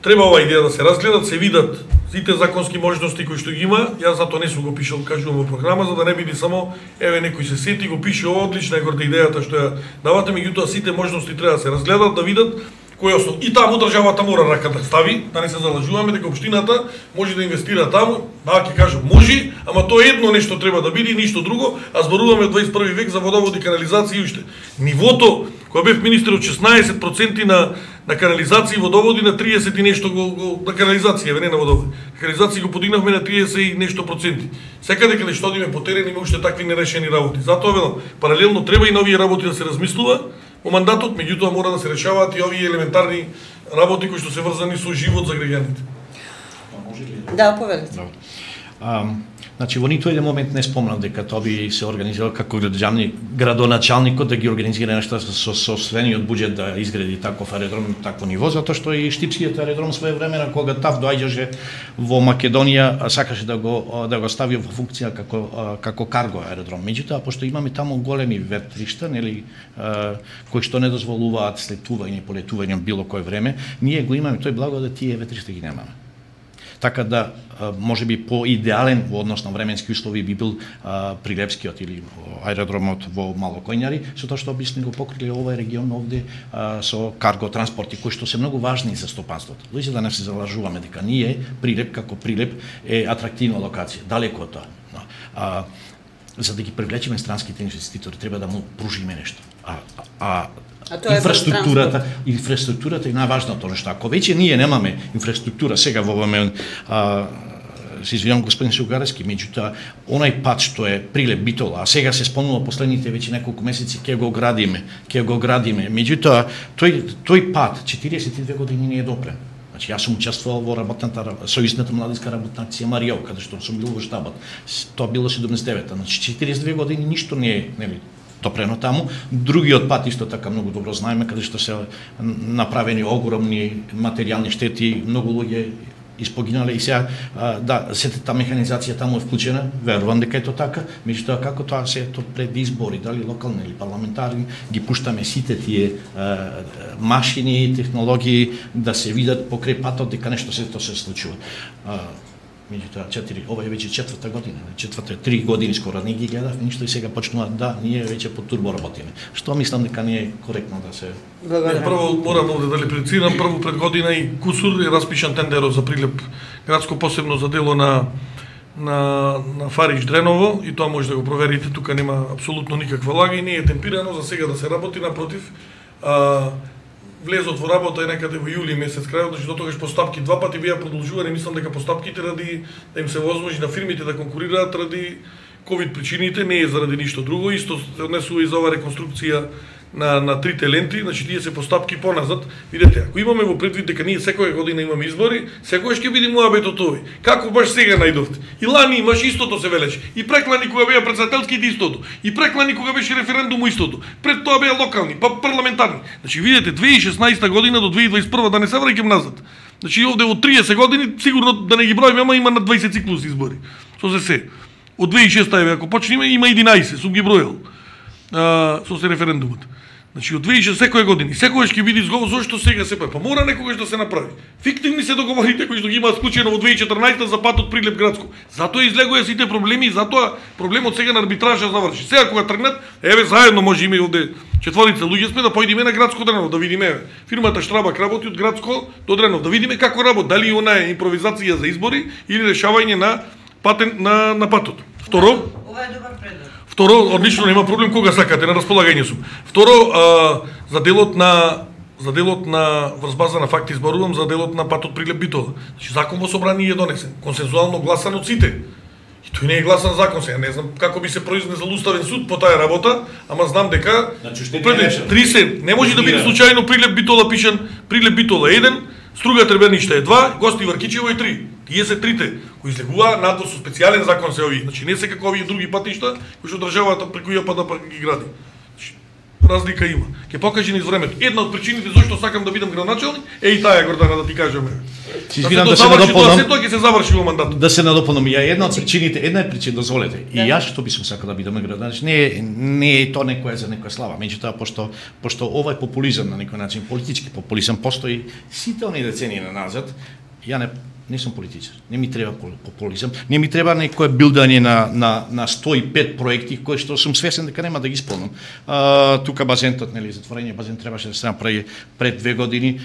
Треба ова идеја да се разгледат, се видат сите законски можности кои што ги има. Јас затоа не сум го пишал, кажувам во програма, за да не биде само еве некој се сети го пише ова, одлична е горда идејата што ја давате, меѓутоа сите можности треба да се разгледат, да видат кој основ. И таму државата мора рака да стави, да не се залажуваме дека општината може да инвестира таму, да ќе кажам може, ама тоа едно нешто треба да биде и ништо друго, а зборуваме од дваесет и први век за водоводи, канализација и уште. Нивото кога бев министер од шеснаесет проценти на на канализација и водоводи на триесет и нешто го, го на канализација, не на водоводи. Канализација го подигнавме на триесет и нешто проценти. Секаде каде што одиме по терен има уште такви нерешени работи. Затоа велам, паралелно треба и на овие работи да се размислува во мандатот, меѓутоа мора да се решаваат и овие елементарни работи кои што се врзани со живот за граѓаните. Да, повелете. А, значи, во ниту еден момент не спомнам дека тоа би се организирал како граѓани, градоначалникот да ги организира нешто со собствениот буџет да изгради таков аеродром на такво ниво, затоа што и Штипскиот аеродром своевремено кога ТАВ доаѓаше во Македонија сакаше да го да го стави во функција како како карго аеродром. Меѓутоа, пошто имаме таму големи ветришта, нели, кои што не дозволуваат слетување и полетување било кој време, ние го имаме тој благодат, тие ветришта ги немаме. Така да, може би по-идеален во однос на временски услови би бил а, Прилепскиот или аеродромот во Малокојњари, со тоа што би сме го покрили овој регион овде а, со карго транспорти, кои што се многу важни за стопанството. Луѓе да не се залажуваме дека ние, Прилеп како Прилеп, е атрактивна локација, далеко од тоа. А, за да ги привлечеме странските инвеститори, треба да му пружиме нешто. А, а А тоа е инфраструктурата, инфраструктурата е најважното нешто. Ако веќе ние немаме инфраструктура сега во време, а, се извинувам господин Шугарески, меѓутоа онај пат што е Прилеп Битола, а сега се спомнува последните веќе неколку месеци ќе го градиме, ќе го градиме. Меѓутоа тој тој пат четириесет и две години не е допрен. Значи јас сум учествувал во работната сојузната младинска работна акција Маријо, каде што сум бил во штабот. Тоа било седумдесет и девета, значи четириесет и две години ништо не е, нели, допрено таму. Другиот пат исто така многу добро знаеме, каде што се направени огромни материјални штети, многу луѓе испогинале и сега, да, сета та механизација таму е вклучена, верувам дека е тоа така, меѓутоа како тоа се ето пред избори, дали локални или парламентарни, ги пуштаме сите тие а, машини и технологии да се видат покрај патот дека нешто се тоа се случува. А, меѓутоа четири, ова е веќе четврта година, четврта три години скоро не ги гледав ништо и сега почнува да ние веќе по турбо работиме. Што мислам дека не е коректно да се. Благодарам. Прво морам овде да реплицирам, прво пред година и кусур е распишан тендерот за Прилеп градско посебно за дело на на на Фарич Дреново и тоа може да го проверите, тука нема апсолутно никаква лага и не е темпирано за сега да се работи, напротив. А, влезот во работа е некаде во јули месец крајот, значи до тогаш постапки два пати беа продолжувани, мислам дека постапките ради да им се возможи на фирмите да конкурираат ради ковид причините, не е заради ништо друго, исто се однесува и за ова реконструкција на на трите ленти, значи тие се постапки поназад. Видете, ако имаме во предвид дека ние секоја година имаме избори, секогаш ќе биде муабетот овој. Како баш сега најдовте? И лани имаш истото се велеше. И преклани кога беа претседателските истото. И преклани кога беше референдум истото. Пред тоа беа локални, па парламентарни. Значи видете две илјади и шеснаесета година до две илјади и дваесет и прва да не се враќам назад. Значи овде од триесет години сигурно да не ги броиме, ама има на дваесет циклус избори. Со се се. Од две илјади и шеста еве ако почнеме има единаесет, сум ги бројал. А, со се референдумот. Значи од две тисячи секоја година, секогаш ќе биде изговор зошто сега се прави. Па мора некогаш да се направи. Фиктивни се договорите кои што ги имаат склучено во две тисячи и четрнаесета за патот Прилеп Градско. Затоа излегува сите проблеми и затоа проблемот сега на арбитража заврши. Сега кога тргнат, еве заедно може име овде четворица луѓе сме да поидеме на Градско Дренов да видиме. Фирмата Штрабак работи од Градско до Дренов да видиме како работи, дали она е импровизација за избори или решавање на патен на на патот. Второ, ова е добар предлог. Второ, одлично, нема проблем кога сакате, на располагање сум. Второ, а, за делот на за делот на врз база на факти зборувам за делот на патот Прилеп Битола. Значи закон во собрание е донесен, консензуално гласан од сите. И тој не е гласан закон, сега не знам како би се произнесел уставен суд по таа работа, ама знам дека значи пред тридесет не може да биде случајно Прилеп Битола пишан, Прилеп Битола еден, Струга Треберништа е два, Гости Варкичево е три. Тие се трите кои излегува надвор со специјален закон се овие. Значи не се како овие други патишта кои што државата преку ја па да ги гради. Значи, разлика има. Ќе покаже низ времето. Една од причините зашто сакам да бидам градоначалник е и таа, Гордана, да ти кажеме. Си извинам да се надополнам. Тоа ќе се заврши во мандатот. Да се надополнам. Ја една од причините, една е причина, дозволете. И јас што би сум сакал да бидам градоначалник, не не е тоа некоја за некоја слава. Меѓутоа пошто пошто овој популизам на некој начин, политички популизам постои сите оние децении назад, ја не не сум политичар. Не ми треба популизам, не ми треба некое билдање на на на сто и пет проекти кои што сум свесен дека нема да ги исполнам. А, тука базентот, нели, затворење базен требаше да се направи пред две години.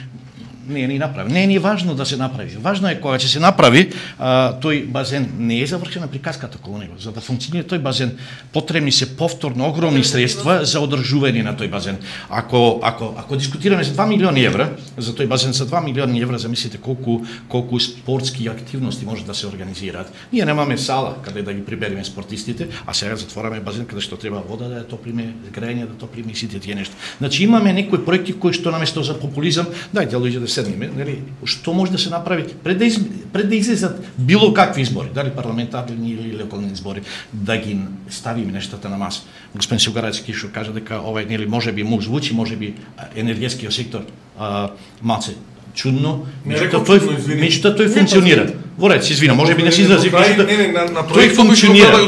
Не е ни направи. Не е ни важно да се направи. Важно е кога ќе се направи, а, тој базен не е завршена приказката околу него. За да функционира тој базен, потребни се повторно огромни средства за одржување на тој базен. Ако ако ако дискутираме за два милиони евра, за тој базен за два милиони евра, замислите колку колку спортски активности може да се организираат. Ние немаме сала каде да ги прибереме спортистите, а сега затвораме базен каде што треба вода да ја топлиме, грејење да топлиме и сите тие нешта. Значи имаме некои проекти кои што наместо за популизам, дајте луѓе да седниме, нели, што може да се направи пред да, из, пред да излезат било какви избори, дали парламентарни или локални избори, да ги ставиме нештата на маса. Господин Силгарецки што кажа дека овај, нели, можеби му звучи, можеби енергетскиот сектор а, маце чудно, меѓутоа тој меѓутоа тој функционира. Во ред, се извинам, можеби не се изразив, меѓутоа тој функционира.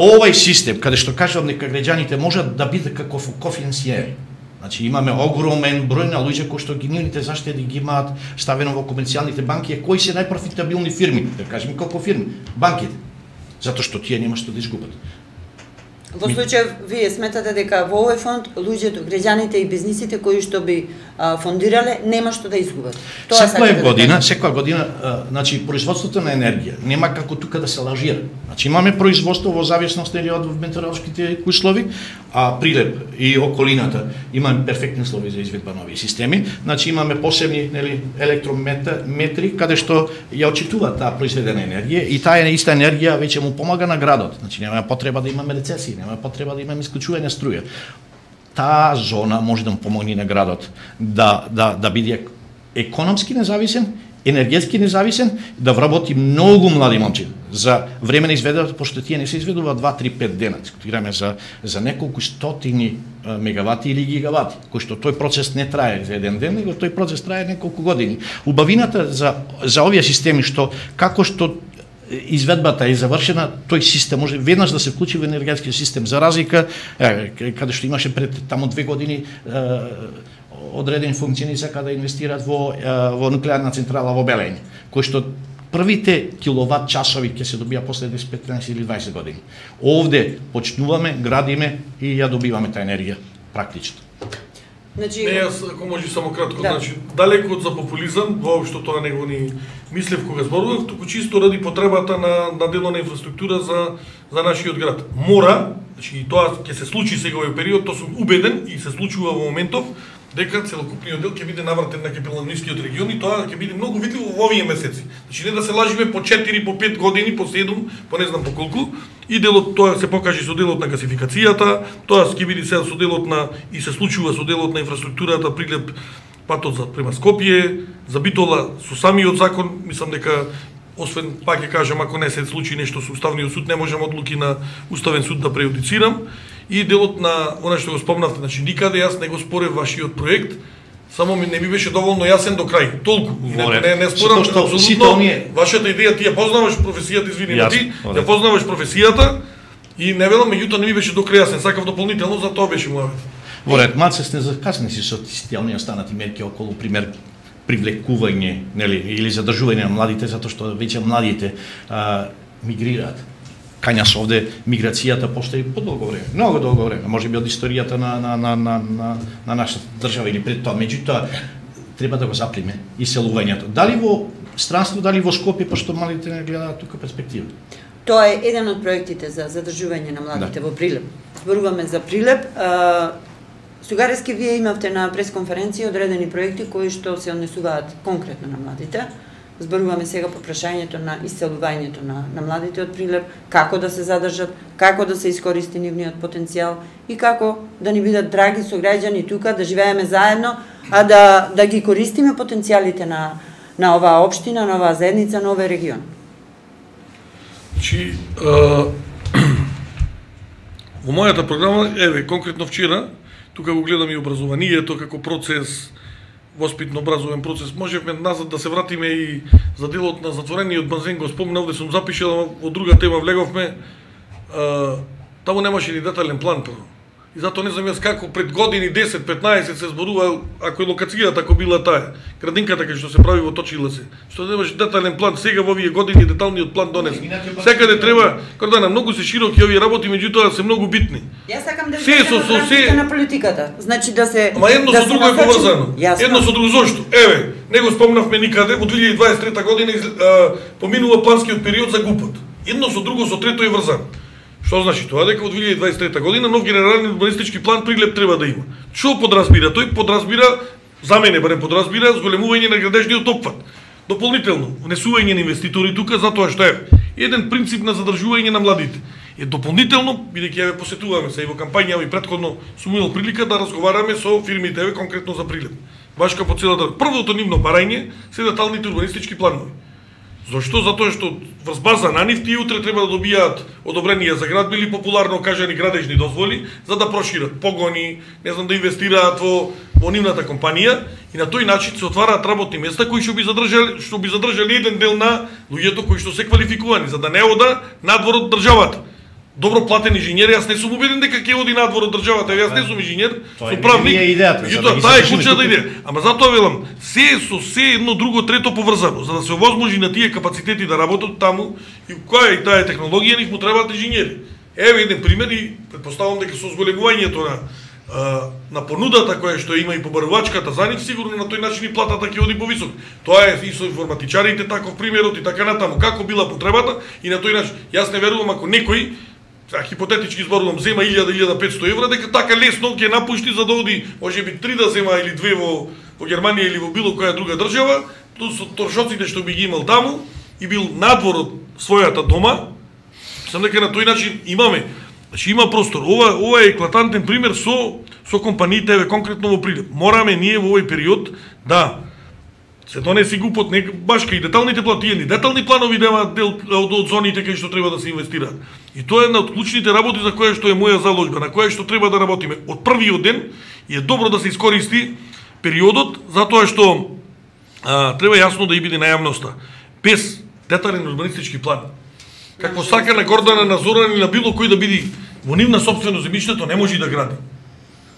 Овај систем каде што кажам дека граѓаните можат да бидат како кофинсиери. Значи имаме огромен број на луѓе кои што ги нивните заштеди ги имаат ставено во комерцијалните банки, кои се најпрофитабилни фирми, да кажеме колку фирми, банките. Затоа што тие нема што да изгубат. Во случај, вие сметате дека во овој фонд луѓето, граѓаните и бизнисите кои што би а, фондирале нема што да изгубат. Тоа секоја година, да секоја година, а, значи производството на енергија нема како тука да се лажира. Значи имаме производство во зависност од метеоролошките услови, а Прилеп и околината имаме перфектни услови за изведба на овие системи. Значи имаме посебни, нели, електрометри каде што ја отчитува таа произведена енергија и таа иста енергија веќе му помага на градот. Значи нема потреба да имаме рецесија, нема потреба да имаме исклучување струја. Таа зона може да му помогне на градот да да да биде економски независен, енергетски независен, да вработи многу млади момци за време на изведување, пошто тие не се изведуваат два три пет дена, дискутираме за за неколку стотини мегавати или гигавати, кој што тој процес не трае за еден ден, него тој процес трае неколку години. Убавината за за овие системи што како што изведбата е завршена, тој систем може веднаш да се вклучи во енергетскиот систем, за разлика е, каде што имаше пред таму две години е, одредени функционери сака да инвестираат во во нуклеарна централа во Белење, кој што првите киловат часови ќе се добија после десет, петнаесет или дваесет години. Овде почнуваме, градиме и ја добиваме таа енергија практично. Значи, не, јас ако може само кратко, да. Значи далеку од за популизам, воопшто тоа него ни мислев кога зборував, туку чисто ради потребата на на дело на инфраструктура за за нашиот град. Мора, значи и тоа ќе се случи сега овој период, тоа сум убеден и се случува во моментов дека целокупниот дел ќе биде навратен на капиталистичкиот регион и тоа ќе биде многу видливо во овие месеци. Значи не да се лажиме по четири, по пет години, по седум, по не знам по колку, и делот тоа се покажи со делот на гасификацијата, тоа ќе биде сега со делот на и се случува со делот на инфраструктурата, Прилеп патот за према Скопје, за Битола со самиот закон, мислам дека освен пак ќе кажам ако не се случи нешто со Уставниот суд, не можам одлуки на Уставен суд да прејудицирам. И делот на она што го спомнавте, значи никаде јас не го спорев вашиот проект, само ми не ми беше доволно јасен до крај. Толку. Не, не, не спорам апсолутно. Оние... Вашата идеја ти ја познаваш професијата, извини, на ти, ја познаваш професијата и не велам, меѓутоа не ми беше до крај јасен. Сакав дополнително, за тоа беше мојот. Во ред маце сте закасни си со тие оние останати мерки околу пример привлекување, нели, или задржување на младите, затоа што веќе младите а, мигрираат. Кања се овде миграцијата постои подолго време, многу долго време, можеби од историјата на на на на на, на нашата држава или пред тоа, меѓутоа треба да го заприме иселувањето. Дали во странство, дали во Скопје, пошто младите не гледаат тука перспектива. Тоа е еден од проектите за задржување на младите да. Во Прилеп. Зборуваме за Прилеп. Сугарески вие имавте на пресконференција одредени проекти кои што се однесуваат конкретно на младите. Зборуваме сега по прашањето на иселувањето на, на младите од Прилеп, како да се задржат, како да се искористи нивниот потенцијал и како да ни бидат драги сограѓани тука, да живееме заедно, а да, да ги користиме потенцијалите на, на оваа општина, на оваа заедница, на овој регион. Значи, во мојата програма, еве, конкретно вчера, тука го гледам и образованието како процес, воспитно-образовен процес. Можевме назад да се вратиме и за делот на затворениот базен, го спомнав, овде сум запишал, во друга тема влеговме, таму немаше ни детален план прво. И затоа не знам јас како пред години десет петнаесет се зборува, ако е локацијата ако била таа, градинката кај што се прави во Точиле се. Што немаше детален план, сега во овие години деталниот план донесе. Секаде треба, Кордана, многу се широки овие работи, меѓутоа се многу битни. Јас сакам да видам во рамките на политиката. Значи да се Ама едно да со друго е поврзано. Едно со друго зошто? Еве, него спомнавме никаде во две илјади дваесет и трета година а, поминува планскиот период за ГУПот. Едно со друго со трето е врзано. Што значи тоа? Дека во две илјади дваесет и трета година нов генерален урбанистички план Прилеп треба да има. Што подразбира? Тој подразбира, за мене барем подразбира, зголемување на градежниот опфат. Дополнително, внесување на инвеститори тука, затоа што е еден принцип на задржување на младите. Е дополнително, бидејќи ја посетуваме се и во кампања и претходно сум имал прилика да разговараме со фирмите еве конкретно за Прилеп. Баш како по целата. Првото нивно барање се деталните урбанистички планови. Зошто? Затоа што врз база на нив тие утре треба да добијаат одобрение за градби или популарно кажани градежни дозволи за да прошират погони, не знам да инвестираат во во нивната компанија и на тој начин се отвараат работни места кои што би задржале што би задржале еден дел на луѓето кои што се квалификувани за да не ода надвор од државата. Добро платен инженер, јас не сум убеден дека ќе оди надвор од државата, јас не сум инженер, сум правник. Тоа е идејата. Меѓутоа, таа е клучната идеја. Ама затоа велам, се со се едно друго трето поврзано, за да се овозможи на тие капацитети да работат таму и која е таа технологија, нив му требаат инженери. Еве еден пример и претпоставам дека со зголемувањето на на понудата која што има и побарувачката за нив, сигурно на тој начин и платата ќе оди повисок. Тоа е и со информатичарите таков примерот и така натаму, како била потребата и на тој начин. Јас не верувам ако некој, а хипотетички зборувам, зема илјада до илјада и петстотини евра, дека така лесно ќе напушти за да оди, можеби три да зема или две во во Германија или во било која друга држава, плюс со торшоците што би ги имал таму и бил надвор од својата дома. Сам дека на тој начин имаме, значи има простор. Ова ова е еклатантен пример со со компаниите еве конкретно во Прилеп. Мораме ние во овој период да се донеси ГУПот, не башка и деталните плати, ни детални планови дема дел од, од зоните кај што треба да се инвестираат. И тоа е една од клучните работи за која што е моја заложба, на која што треба да работиме од првиот ден и е добро да се искористи периодот, затоа што а, треба јасно да и биде на јавноста. Без детален урбанистички план, какво сака на Гордана, на Зоран или на било кој да биде во нивна собствено земјиштето, не може да гради.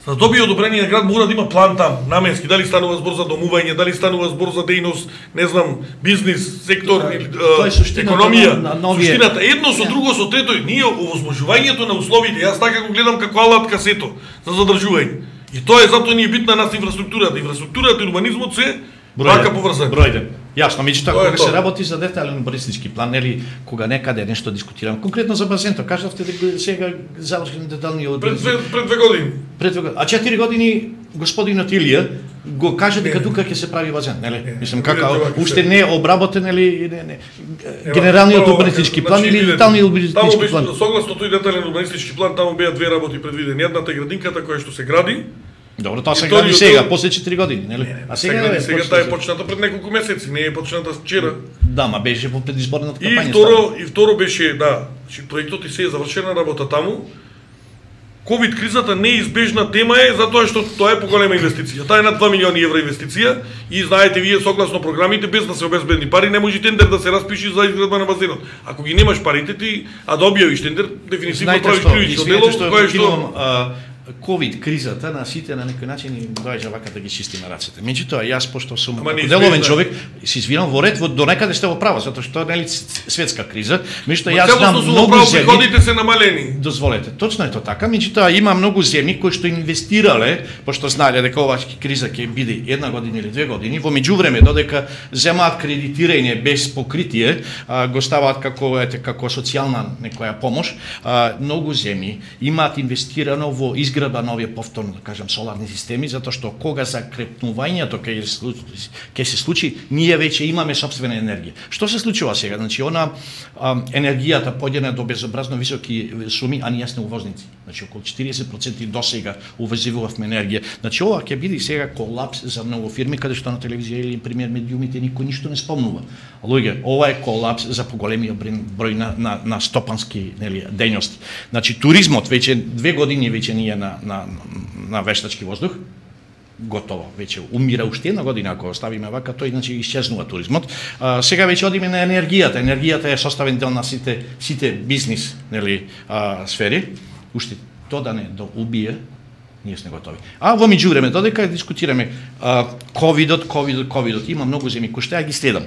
За да добие одобрение на град мора да има план там, наменски, дали станува збор за домување, дали станува збор за дејност, не знам, бизнис, сектор, да, е, економија, на, на суштината. Едно со друго, со трето, ние овозможувањето на условите, јас така го гледам како алатка сето за задржување. И тоа е затоа ни е битна нас инфраструктурата. Инфраструктурата и урбанизмот се вака поврзани. Бројден. Јасно, меѓутоа кога се работи за детален урбанистички план, нели кога некаде нешто дискутирам, конкретно за базенто, кажавте дека сега завршен детални урбанистички. Пред, пред две години. Пред две години. А четири години господинот Илија го кажа дека тука ќе се прави базен, нели? Мислам како уште не е обработен или не не. Генералниот урбанистички план или деталниот урбанистички план. Согласно тој детален урбанистички план таму беа две работи предвидени. Едната е градинката која што се гради. Добро, тоа се гради сега, после четири години, нели? А сега сега таа е почната пред неколку месеци, не е почната вчера. Да, ма беше во предизборната кампања. И второ, и второ беше, да, проектот и се е завршена работа таму. Ковид кризата неизбежна тема е затоа што тоа е поголема инвестиција. Таа е над два милиони евра инвестиција и знаете вие согласно програмите без да се обезбедни пари не може тендер да се распиши за изградба на базенот. Ако ги немаш парите ти, а да објавиш тендер, дефинитивно правиш кривично дело, кое што ковид кризата на сите на некој начин и доаѓа вака да ги чисти на рацете. Меѓутоа јас пошто сум деловен човек, се извинам во ред, во до некаде сте во право, затоа што нели светска криза, меѓутоа јас знам многу земји. Приходите се намалени. Дозволете, точно е тоа така, меѓутоа има многу земји кои што инвестирале, пошто знаеле дека оваа криза ќе биде една година или две години, во меѓувреме додека земаат кредитирање без покритие, а, го ставаат како ете како социјална некоја помош, а, многу земји имаат инвестирано во изградба на овие повторно, да кажам, соларни системи, затоа што кога закрепнувањето ќе ќе се случи, ние веќе имаме сопствена енергија. Што се случува сега? Значи, она а, енергијата поѓена до безобразно високи суми, а ние сме увозници. Значи, околу четириесет проценти до сега увозивувавме енергија. Значи, ова ќе биде сега колапс за многу фирми, каде што на телевизија или пример медиумите никој ништо не спомнува. Луѓе, ова е колапс за поголемиот број на, на, на стопански нели дејности. Значи, туризмот веќе две години веќе ние на, на, на вештачки воздух, готово, веќе умира уште една година, ако оставиме вака, тој значи исчезнува туризмот. А, сега веќе одиме на енергијата. Енергијата е составен дел на сите, сите бизнис нели, а, сфери. Уште тоа да не да убие, ние сме готови. А во меѓувреме, додека дискутираме а, ковидот, ковидот, ковидот, има многу земји кои што ја ги следам.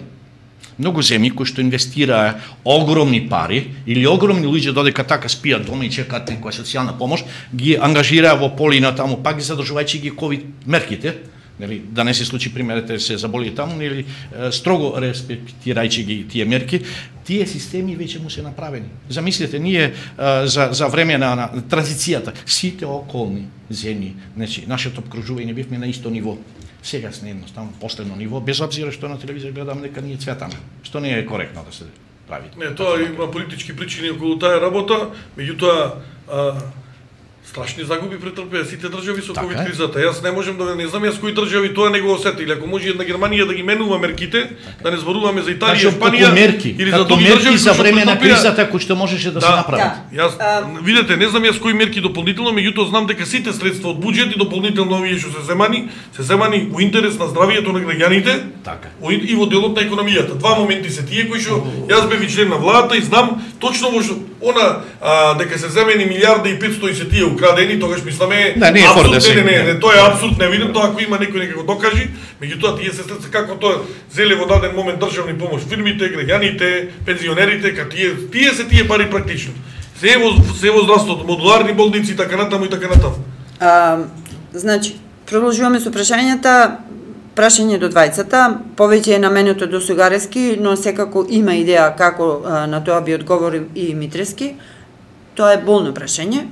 Многу земји кои што инвестираа огромни пари или огромни луѓе додека така спијат дома и чекаат некоја социјална помош, ги ангажираа во Полина таму, пак ги задржувајќи ги ковид мерките, нели да не се случи примерите се заболи таму или строго респектирајќи ги тие мерки, тие системи веќе му се направени. Замислете, ние за за време на, на транзицијата сите околни земји, значи нашето обкружување бевме на исто ниво. Сега сме едноставно последно ниво, без обзира што на телевизија гледам дека ние цветаме, што не е коректно да се прави. Не, тоа има политички причини околу таа работа, меѓутоа страшни загуби претрпеа сите држави со ковид кризата. Јас не можам да не знам јас кои држави тоа не го осетиле. Ако може една Германија да ги менува мерките, така. Да не зборуваме за Италија, Шпанија мерки, или за други мерки за време на кризата кои што можеше да, да се направат. Да. Јас а... видете, не знам јас кои мерки дополнително, меѓутоа знам дека сите средства од буџет и дополнително овие што се земани, се земани во интерес на здравието на граѓаните. Така. И во делот на економијата. Два моменти се тие кои што јас бев член на владата и знам точно во што она а, дека се земени милиарда и петстотини се тие украдени, тогаш мисламе да, не е абсурд, да не, не, не, тоа е абсурд, не видим тоа ако има некој нека го докажи, меѓутоа тие се средства како тоа зеле во даден момент државни помош фирмите, граѓаните, пензионерите, ка тие тие се тие пари практично. Се е во се во здравството, модуларни болници и така натаму и така натаму. А, значи, продолжуваме со прашањата. Прашање до двајцата, повеќе е наменето до Сугарески, но секако има идеја како а, на тоа би одговорил и Митрески. Тоа е болно прашање.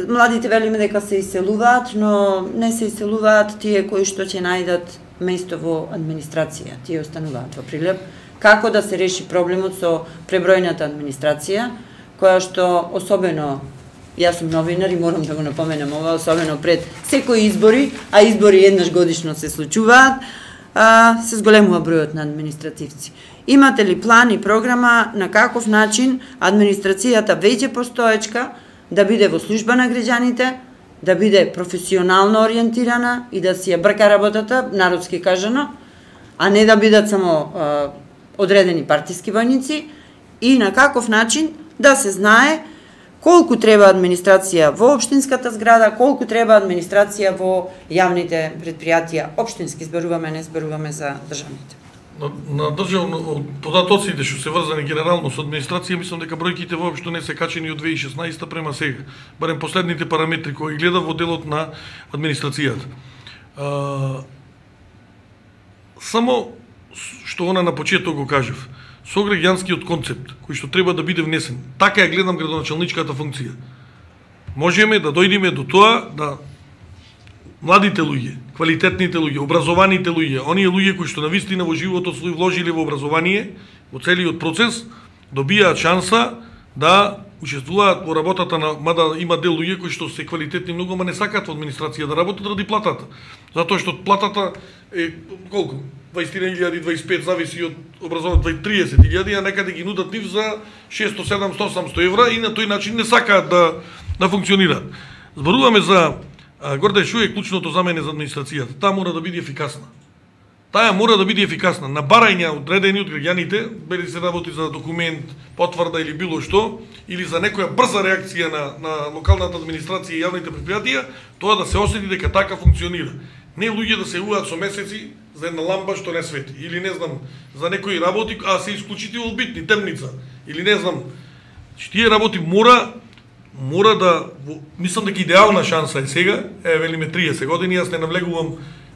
Младите велиме дека се иселуваат, но не се иселуваат тие кои што ќе најдат место во администрација. Тие остануваат во Прилеп. Како да се реши проблемот со пребројната администрација, која што особено, јас сум новинар и морам да го напоменам ова, особено пред секои избори, а избори еднаш годишно се случуваат, а, се зголемува бројот на административци. Имате ли план и програма на каков начин администрацијата веќе постоечка да биде во служба на граѓаните, да биде професионално ориентирана и да си ја брка работата, народски кажано, а не да бидат само а, одредени партиски војници, и на каков начин да се знае колку треба администрација во општинската зграда, колку треба администрација во јавните предпријатија, општински зборуваме, не зборуваме за државните. На, на државно податоците што се врзани генерално со администрација, мислам дека бројките воопшто не се качени од две тисачи и шеснаесета према сега. Барем последните параметри кои гледа во делот на администрацијата. А, само што она на почеток го кажав, со граѓанскиот концепт кој што треба да биде внесен. Така ја гледам градоначалничката функција. Можеме да дојдеме до тоа да младите луѓе, квалитетните луѓе, образованите луѓе, оние луѓе кои што навистина во животот свој вложиле во образование, во целиот процес, добијаат шанса да учествуваат во работата на, мада има дел луѓе кои што се квалитетни многу, ама не сакаат во администрација да работат ради платата. Затоа што платата е колку? дваесет илјади, дваесет и пет зависи од образованието, триесет илјади, а некаде ги нудат нив за шестоста, седумста, осумста евра и на тој начин не сакаат да да функционираат. Зборуваме за Гордан, што е клучното за мене за администрацијата? Таа мора да биде ефикасна. таа мора да биде ефикасна. На барања одредени од граѓаните, бели се работи за документ, потврда или било што, или за некоја брза реакција на, на локалната администрација и јавните предпријатија, тоа да се осети дека така функционира. Не луѓе да се јавуваат со месеци за една ламба што не свети, или не знам, за некои работи, а се исклучително битни, темница, или не знам. Тие работи мора мора да, мислам дека идеална шанса е сега, е велиме триесет години, јас не навлегувам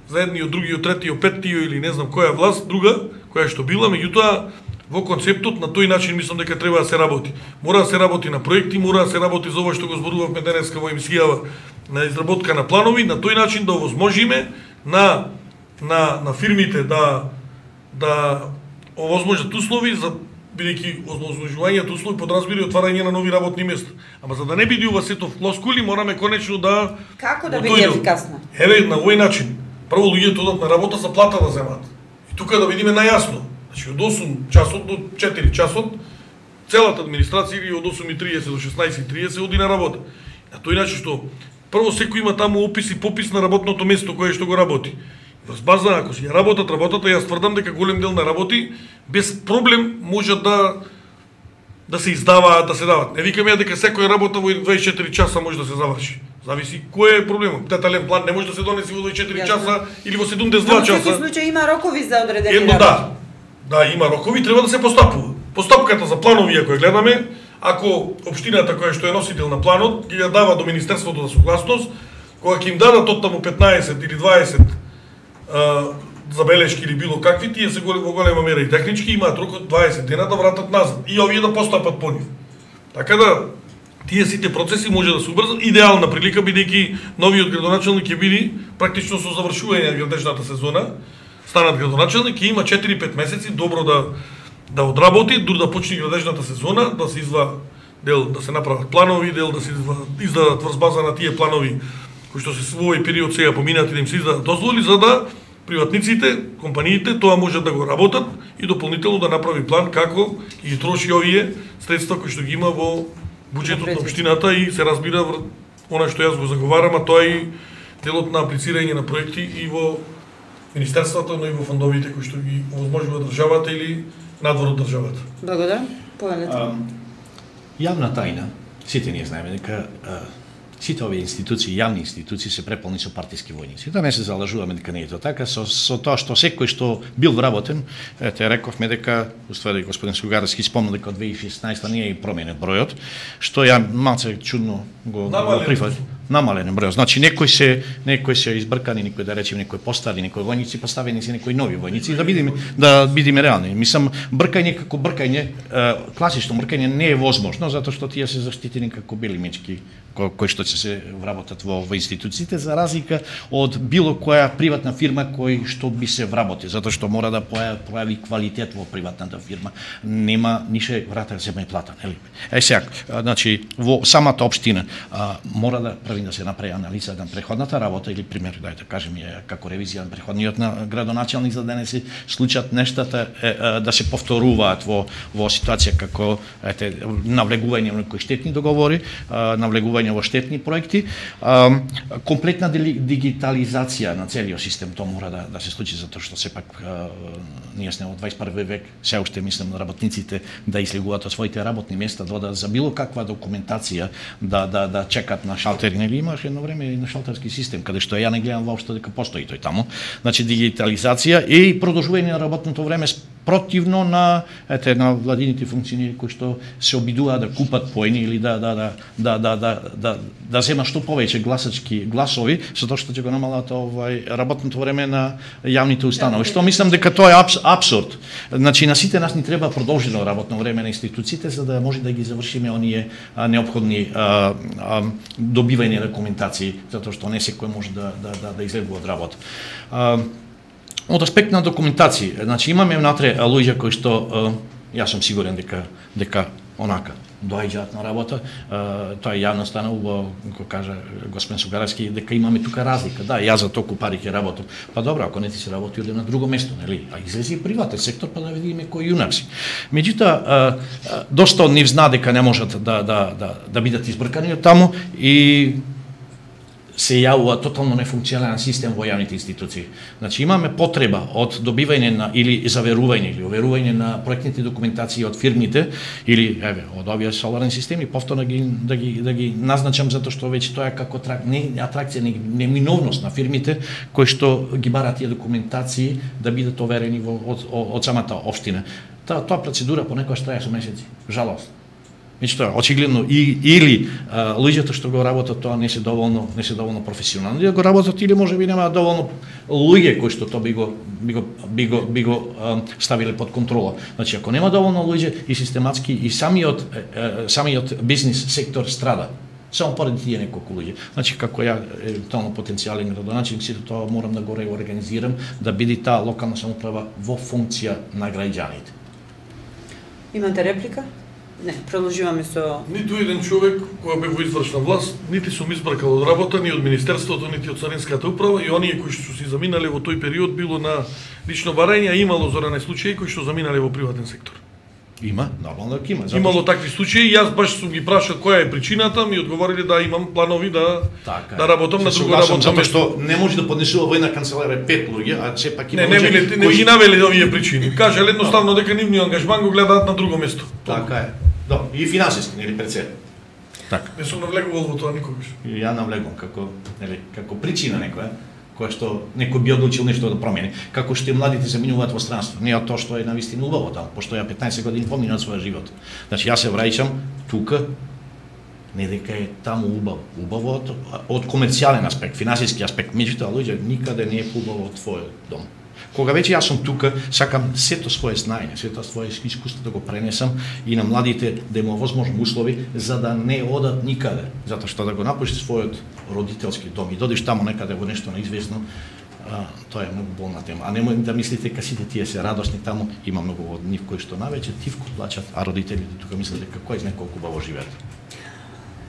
за едниот, другиот, третиот, петтиот или не знам која власт, друга, која што била, меѓутоа во концептот на тој начин мислам дека треба да се работи. Мора да се работи на проекти, мора да се работи за ова што го зборувавме денеска во емисијава на изработка на планови, на тој начин да овозможиме на на на фирмите да да овозможат услови за бидејќи овозможувањето услови подразбира и отварање на нови работни места. Ама за да не биде ова сето флоскули, мораме конечно да како да биде ефикасна? Еве на овој начин. Прво луѓето одат на работа за плата да земат. И тука да видиме најасно. Значи од осум часот до четири часот целата администрација или од осум и триесет до шеснаесет и триесет оди на работа. На тој начин што прво секој има таму опис и попис на работното место кое што го работи. Врз база ако си ја работат работата, јас тврдам дека голем дел на работи без проблем можат да да се издаваат, да се дават. Не викам ја дека секоја работа во дваесет и четири часа може да се заврши. Зависи кој е проблемот. Детален план не може да се донесе во дваесет и четири часа или во седумдесет и два часа. Во секој случај има рокови за одредени Едно да. Да, има рокови, треба да се постапува. Постапката за планови ако ја гледаме, ако општината која што е носител на планот ги ја дава до Министерството за согласност, кога ќе им дадат од таму петнаесет или дваесет а, забелешки или било какви, тие се во голема мера и технички, имаат рок од дваесет дена да вратат назад и овие да постапат по нив. Така да тие сите процеси може да се убрзат. Идеална прилика бидејќи новиот градоначалник ќе биде практично со завршување на градежната сезона, станат градоначалник и има четири-пет месеци добро да да одработи, дури да почне градежната сезона, да се изва дел да се направат планови, дел да се изва, издадат врз база на тие планови кои што се во овој период сега поминати да им се издадат дозволи за да приватниците, компаниите тоа можат да го работат и дополнително да направи план како ќе ги троши овие средства кои што ги има во буџетот на општината и се разбира она што јас го заговарам, а тоа е и делот на аплицирање на проекти и во министерствата, но и во фондовите кои што ги овозможува државата или надвор од државата. Благодарам. Поелете. Јавна тајна, сите ние знаеме дека сите овие институции, јавни институции се преполни со партиски војници. Да не се залажуваме дека не е тоа така, со, со тоа што секој што бил вработен, ете рековме дека, уствари господин Сугарски спомна дека од две илјади и шеснаесета не е променет бројот, што ја малце чудно го, го прифати. Намален број. Значи некои се некои се избркани, некои да речеме некои постари, некои војници поставени се некои нови војници, да бидеме да бидеме реални. Мислам бркање како бркање, класично бркање не е возможно затоа што тие се заштитени како бели мечки кои што ќе се вработат во, во институциите за разлика од било која приватна фирма кој што би се вработи, затоа што мора да појави квалитет во приватната фирма. Нема нише врата се ме плата, нели? Е сега, значи во самата општина а, мора да да се направи анализа на преходната работа или пример да кажеме како ревизија на преходниот на градоначалник за да не се случат нештата е, е, да се повторуваат во во ситуација како ете навлегување во некои штетни договори, е, навлегување во штетни проекти, е, комплетна дигитализација на целиот систем, тоа мора да да се случи затоа што сепак е, ние сме во дваесет и први век, се уште мислам на работниците да излегуваат од своите работни места, да за било каква документација да да да чекат на шалтери. Или имаше едно време и на шалтерски систем, каде што ја не гледам воопшто дека постои тој таму. Значи дигитализација и продолжување на работното време противно на ете на владините функционери кои што се обидуваат да купат поени или да да да да да да да да зема што повеќе гласачки гласови, затоа што ќе го намалат овај работното време на јавните установи. Што мислам дека тоа е абс, абсурд. Значи на сите нас ни треба продолжено работно време на институциите за да може да ги завршиме оние а, неопходни а, а, добивање на документации, затоа што не секој може да да да, да излегува од работа. А, од аспект на документација, значи имаме внатре луѓе кои што јас сум сигурен дека дека онака доаѓаат на работа, тоа е јавно станало, како кажа господин Сугаровски, дека имаме тука разлика. Да, јас за толку пари ќе работам. Па добро, ако не ти се работи, оди на друго место, нели? А излези и приватен сектор па да видиме кој јунак си. Меѓутоа, доста од нив зна дека не можат да да да да бидат избркани од таму и се јавува тотално нефункционален систем во јавните институции. Значи имаме потреба од добивање на или заверување или оверување на проектните документации од фирмите или еве од овие соларни системи, повторно ги да ги да ги назначам затоа што веќе тоа е како трак, не атракција, не неминовност на фирмите кои што ги бараат тие документации да бидат оверени во од, од, од самата општина. Таа тоа процедура понекогаш трае со месеци. Жалост. Меѓу тоа, очигледно и или а, луѓето што го работат тоа не се доволно не се доволно професионални да го работат или можеби нема доволно луѓе кои што тоа би го би го би го, би го а, ставиле под контрола. Значи ако нема доволно луѓе и систематски и самиот е, самиот бизнис сектор страда. Само поради тие неколку луѓе. Значи како ја евентуално потенцијален градоначелник сите тоа морам да го реорганизирам да биде таа локална самоуправа во функција на граѓаните. Имате реплика? Не, продолжуваме со... Ниту еден човек кој бе во извршна власт, нити сум избркал од работа, ни од Министерството, нити од Царинската управа, и оние кои што си заминале во тој период било на лично барање, а имало зоране случаи кои што заминале во приватен сектор. Има, нормално дека има. Имало такви случаи, јас баш сум ги прашал која е причината, ми одговориле да имам планови да така, да работам на друго работно место. Затоа што не може да поднесува во една канцеларија пет луѓе, а сепак има не, не, не, не, не ги навели овие причини. Кажале едноставно дека нивниот ангажман го гледаат на друго место. Така е. Да, и финансиски, нели пред се. Така. Не сум навлегувал во тоа никогаш. И ја навлегувам како, нели, како причина некоја, која што некој би одлучил нешто да промени. Како што и младите се минуваат во странство. Не од тоа што е навистина убаво таму, пошто ја петнаесет години поминав својот живот. Значи јас се враќам тука, не дека е таму убаво, убаво од, од комерцијален аспект, финансиски аспект. Меѓутоа луѓе никаде не е убаво од твојот дом. Кога веќе јас сум тука, сакам сето свое знаење, сето свое искуство да го пренесам и на младите да има возможни услови за да не одат никаде, затоа што да го напуштиш својот родителски дом и додиш таму некаде во нешто неизвестно, а, тоа е многу болна тема. А немој да мислите дека сите тие се радосни таму, има многу од нив кои што навеќе тивко плачат, а родителите тука мислат дека кој знае колку убаво живеат.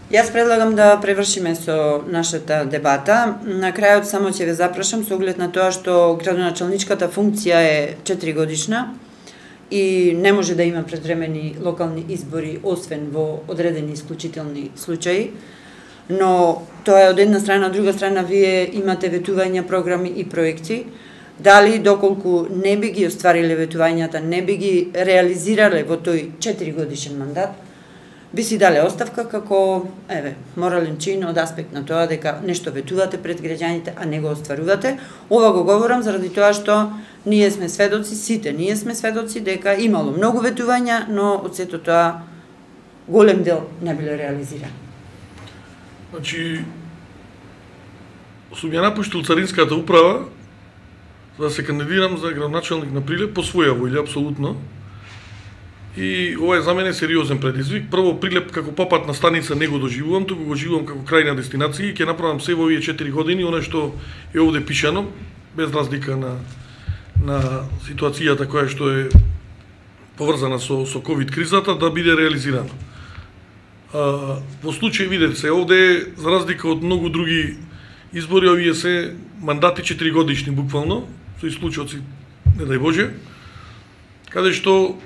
Јас предлагам да превршиме со нашата дебата. На крајот само ќе ве запрашам со оглед на тоа што градоначалничката функција е четири годишна и не може да има предвремени локални избори освен во одредени исклучителни случаи. Но тоа е од една страна, од друга страна вие имате ветувања, програми и проекти. Дали доколку не би ги оствариле ветувањата, не би ги реализирале во тој четири годишен мандат, би си дале оставка како, еве, морален чин од аспект на тоа дека нешто ветувате пред граѓаните, а не го остварувате. Ова го говорам заради тоа што ние сме сведоци, сите ние сме сведоци дека имало многу ветувања, но од сето тоа голем дел не биле реализирани. Значи, сум ја напуштил Царинската управа за да се кандидирам за градоначалник на Прилеп по своја волја, апсолутно. И ова е за мене сериозен предизвик. Прво, Прилеп како попатна станица не го доживувам, туку го живувам како крајна дестинација и ќе направам се во овие четири години, оно што е овде пишано, без разлика на, на ситуацијата која што е поврзана со, со ковид кризата, да биде реализирано. А, во случај, видете се, овде, за разлика од многу други избори, овие се мандати четири годишни, буквално, со исклучоци, не дај Боже, каде што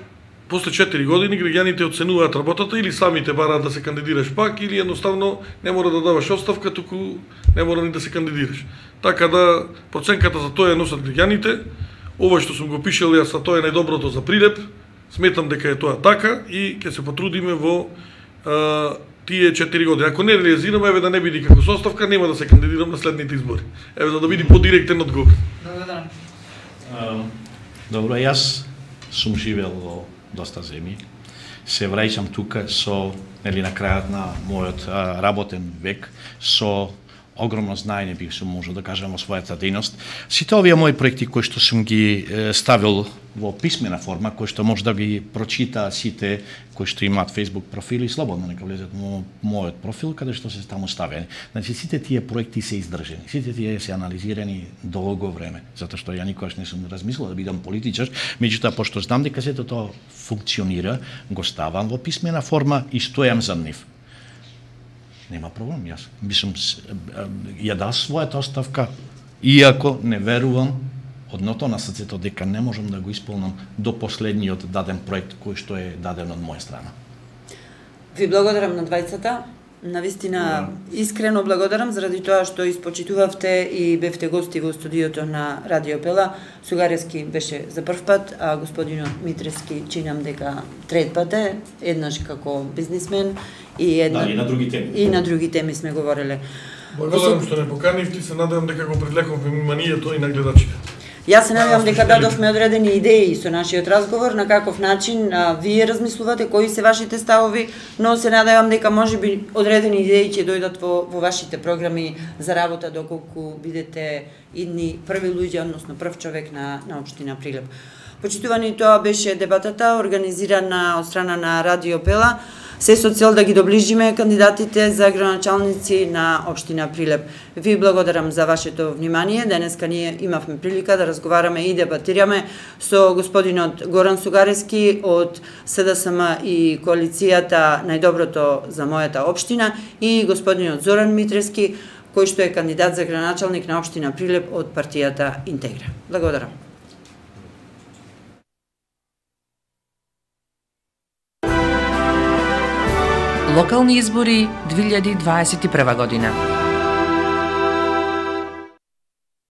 после четири години граѓаните оценуваат работата или самите бараат да се кандидираш пак или едноставно не мора да даваш оставка, туку не мора ни да се кандидираш. Така да проценката за тоа носат граѓаните. Ова што сум го пишал јас, тоа е најдоброто за Прилеп. Сметам дека е тоа така и ќе се потрудиме во а, тие четири години. Ако не реализираме, еве да не биде како со оставка, нема да се кандидирам на следните избори. Еве за да биде подиректен одговор. Благодарам. Добро, јас сум живел во доста земји. Се враќам тука со, нели, на крајот на мојот а, работен век, со огромно знаење, бих сум можел да кажам, во својата дејност. Сите овие мои проекти кои што сум ги е, ставил во писмена форма, кои што може да ги прочитаат сите кои што имаат Facebook профили, слободно нека влезат во мојот профил, каде што се таму ставени. Значи, сите тие проекти се издржани, сите тие се анализирани долго време, затоа што ја никогаш не сум размислил да бидам политичар, меѓутоа, пошто знам дека сето тоа функционира, го ставам во писмена форма и стојам за нив. Нема проблем, јас би сум ја дал својата оставка, иако не верувам одното на срцето дека не можам да го исполнам до последниот даден проект кој што е даден од моја страна. Ви благодарам на двајцата. Навистина, искрено благодарам заради тоа што испочитувавте и бевте гости во студиото на Радио Пела. Сугарески беше за прв пат, а господинот Митрески чинам дека трет пат е, еднаш како бизнисмен и една... Да, и на други теми. И на други теми сме говореле. Благодарам што не поканивте и се надевам дека го привлековме вниманието и на гледачите. Јас се надевам дека дадовме одредени идеи со нашиот разговор, на каков начин а, вие размислувате, кои се вашите ставови, но се надевам дека можеби одредени идеи ќе дојдат во, во вашите програми за работа доколку бидете идни први луѓе, односно прв човек на, на општина Прилеп. Почитувани, тоа беше дебатата организирана од страна на Радио Пела, се со цел да ги доближиме кандидатите за градоначалници на општина Прилеп. Ви благодарам за вашето внимание. Денеска ние имавме прилика да разговараме и дебатираме со господинот Горан Сугарески од СДСМ и коалицијата Најдоброто за мојата општина и господинот Зоран Митрески, кој што е кандидат за градоначалник на општина Прилеп од партијата Интегра. Благодарам. Локални избори две илјади дваесет и прва година.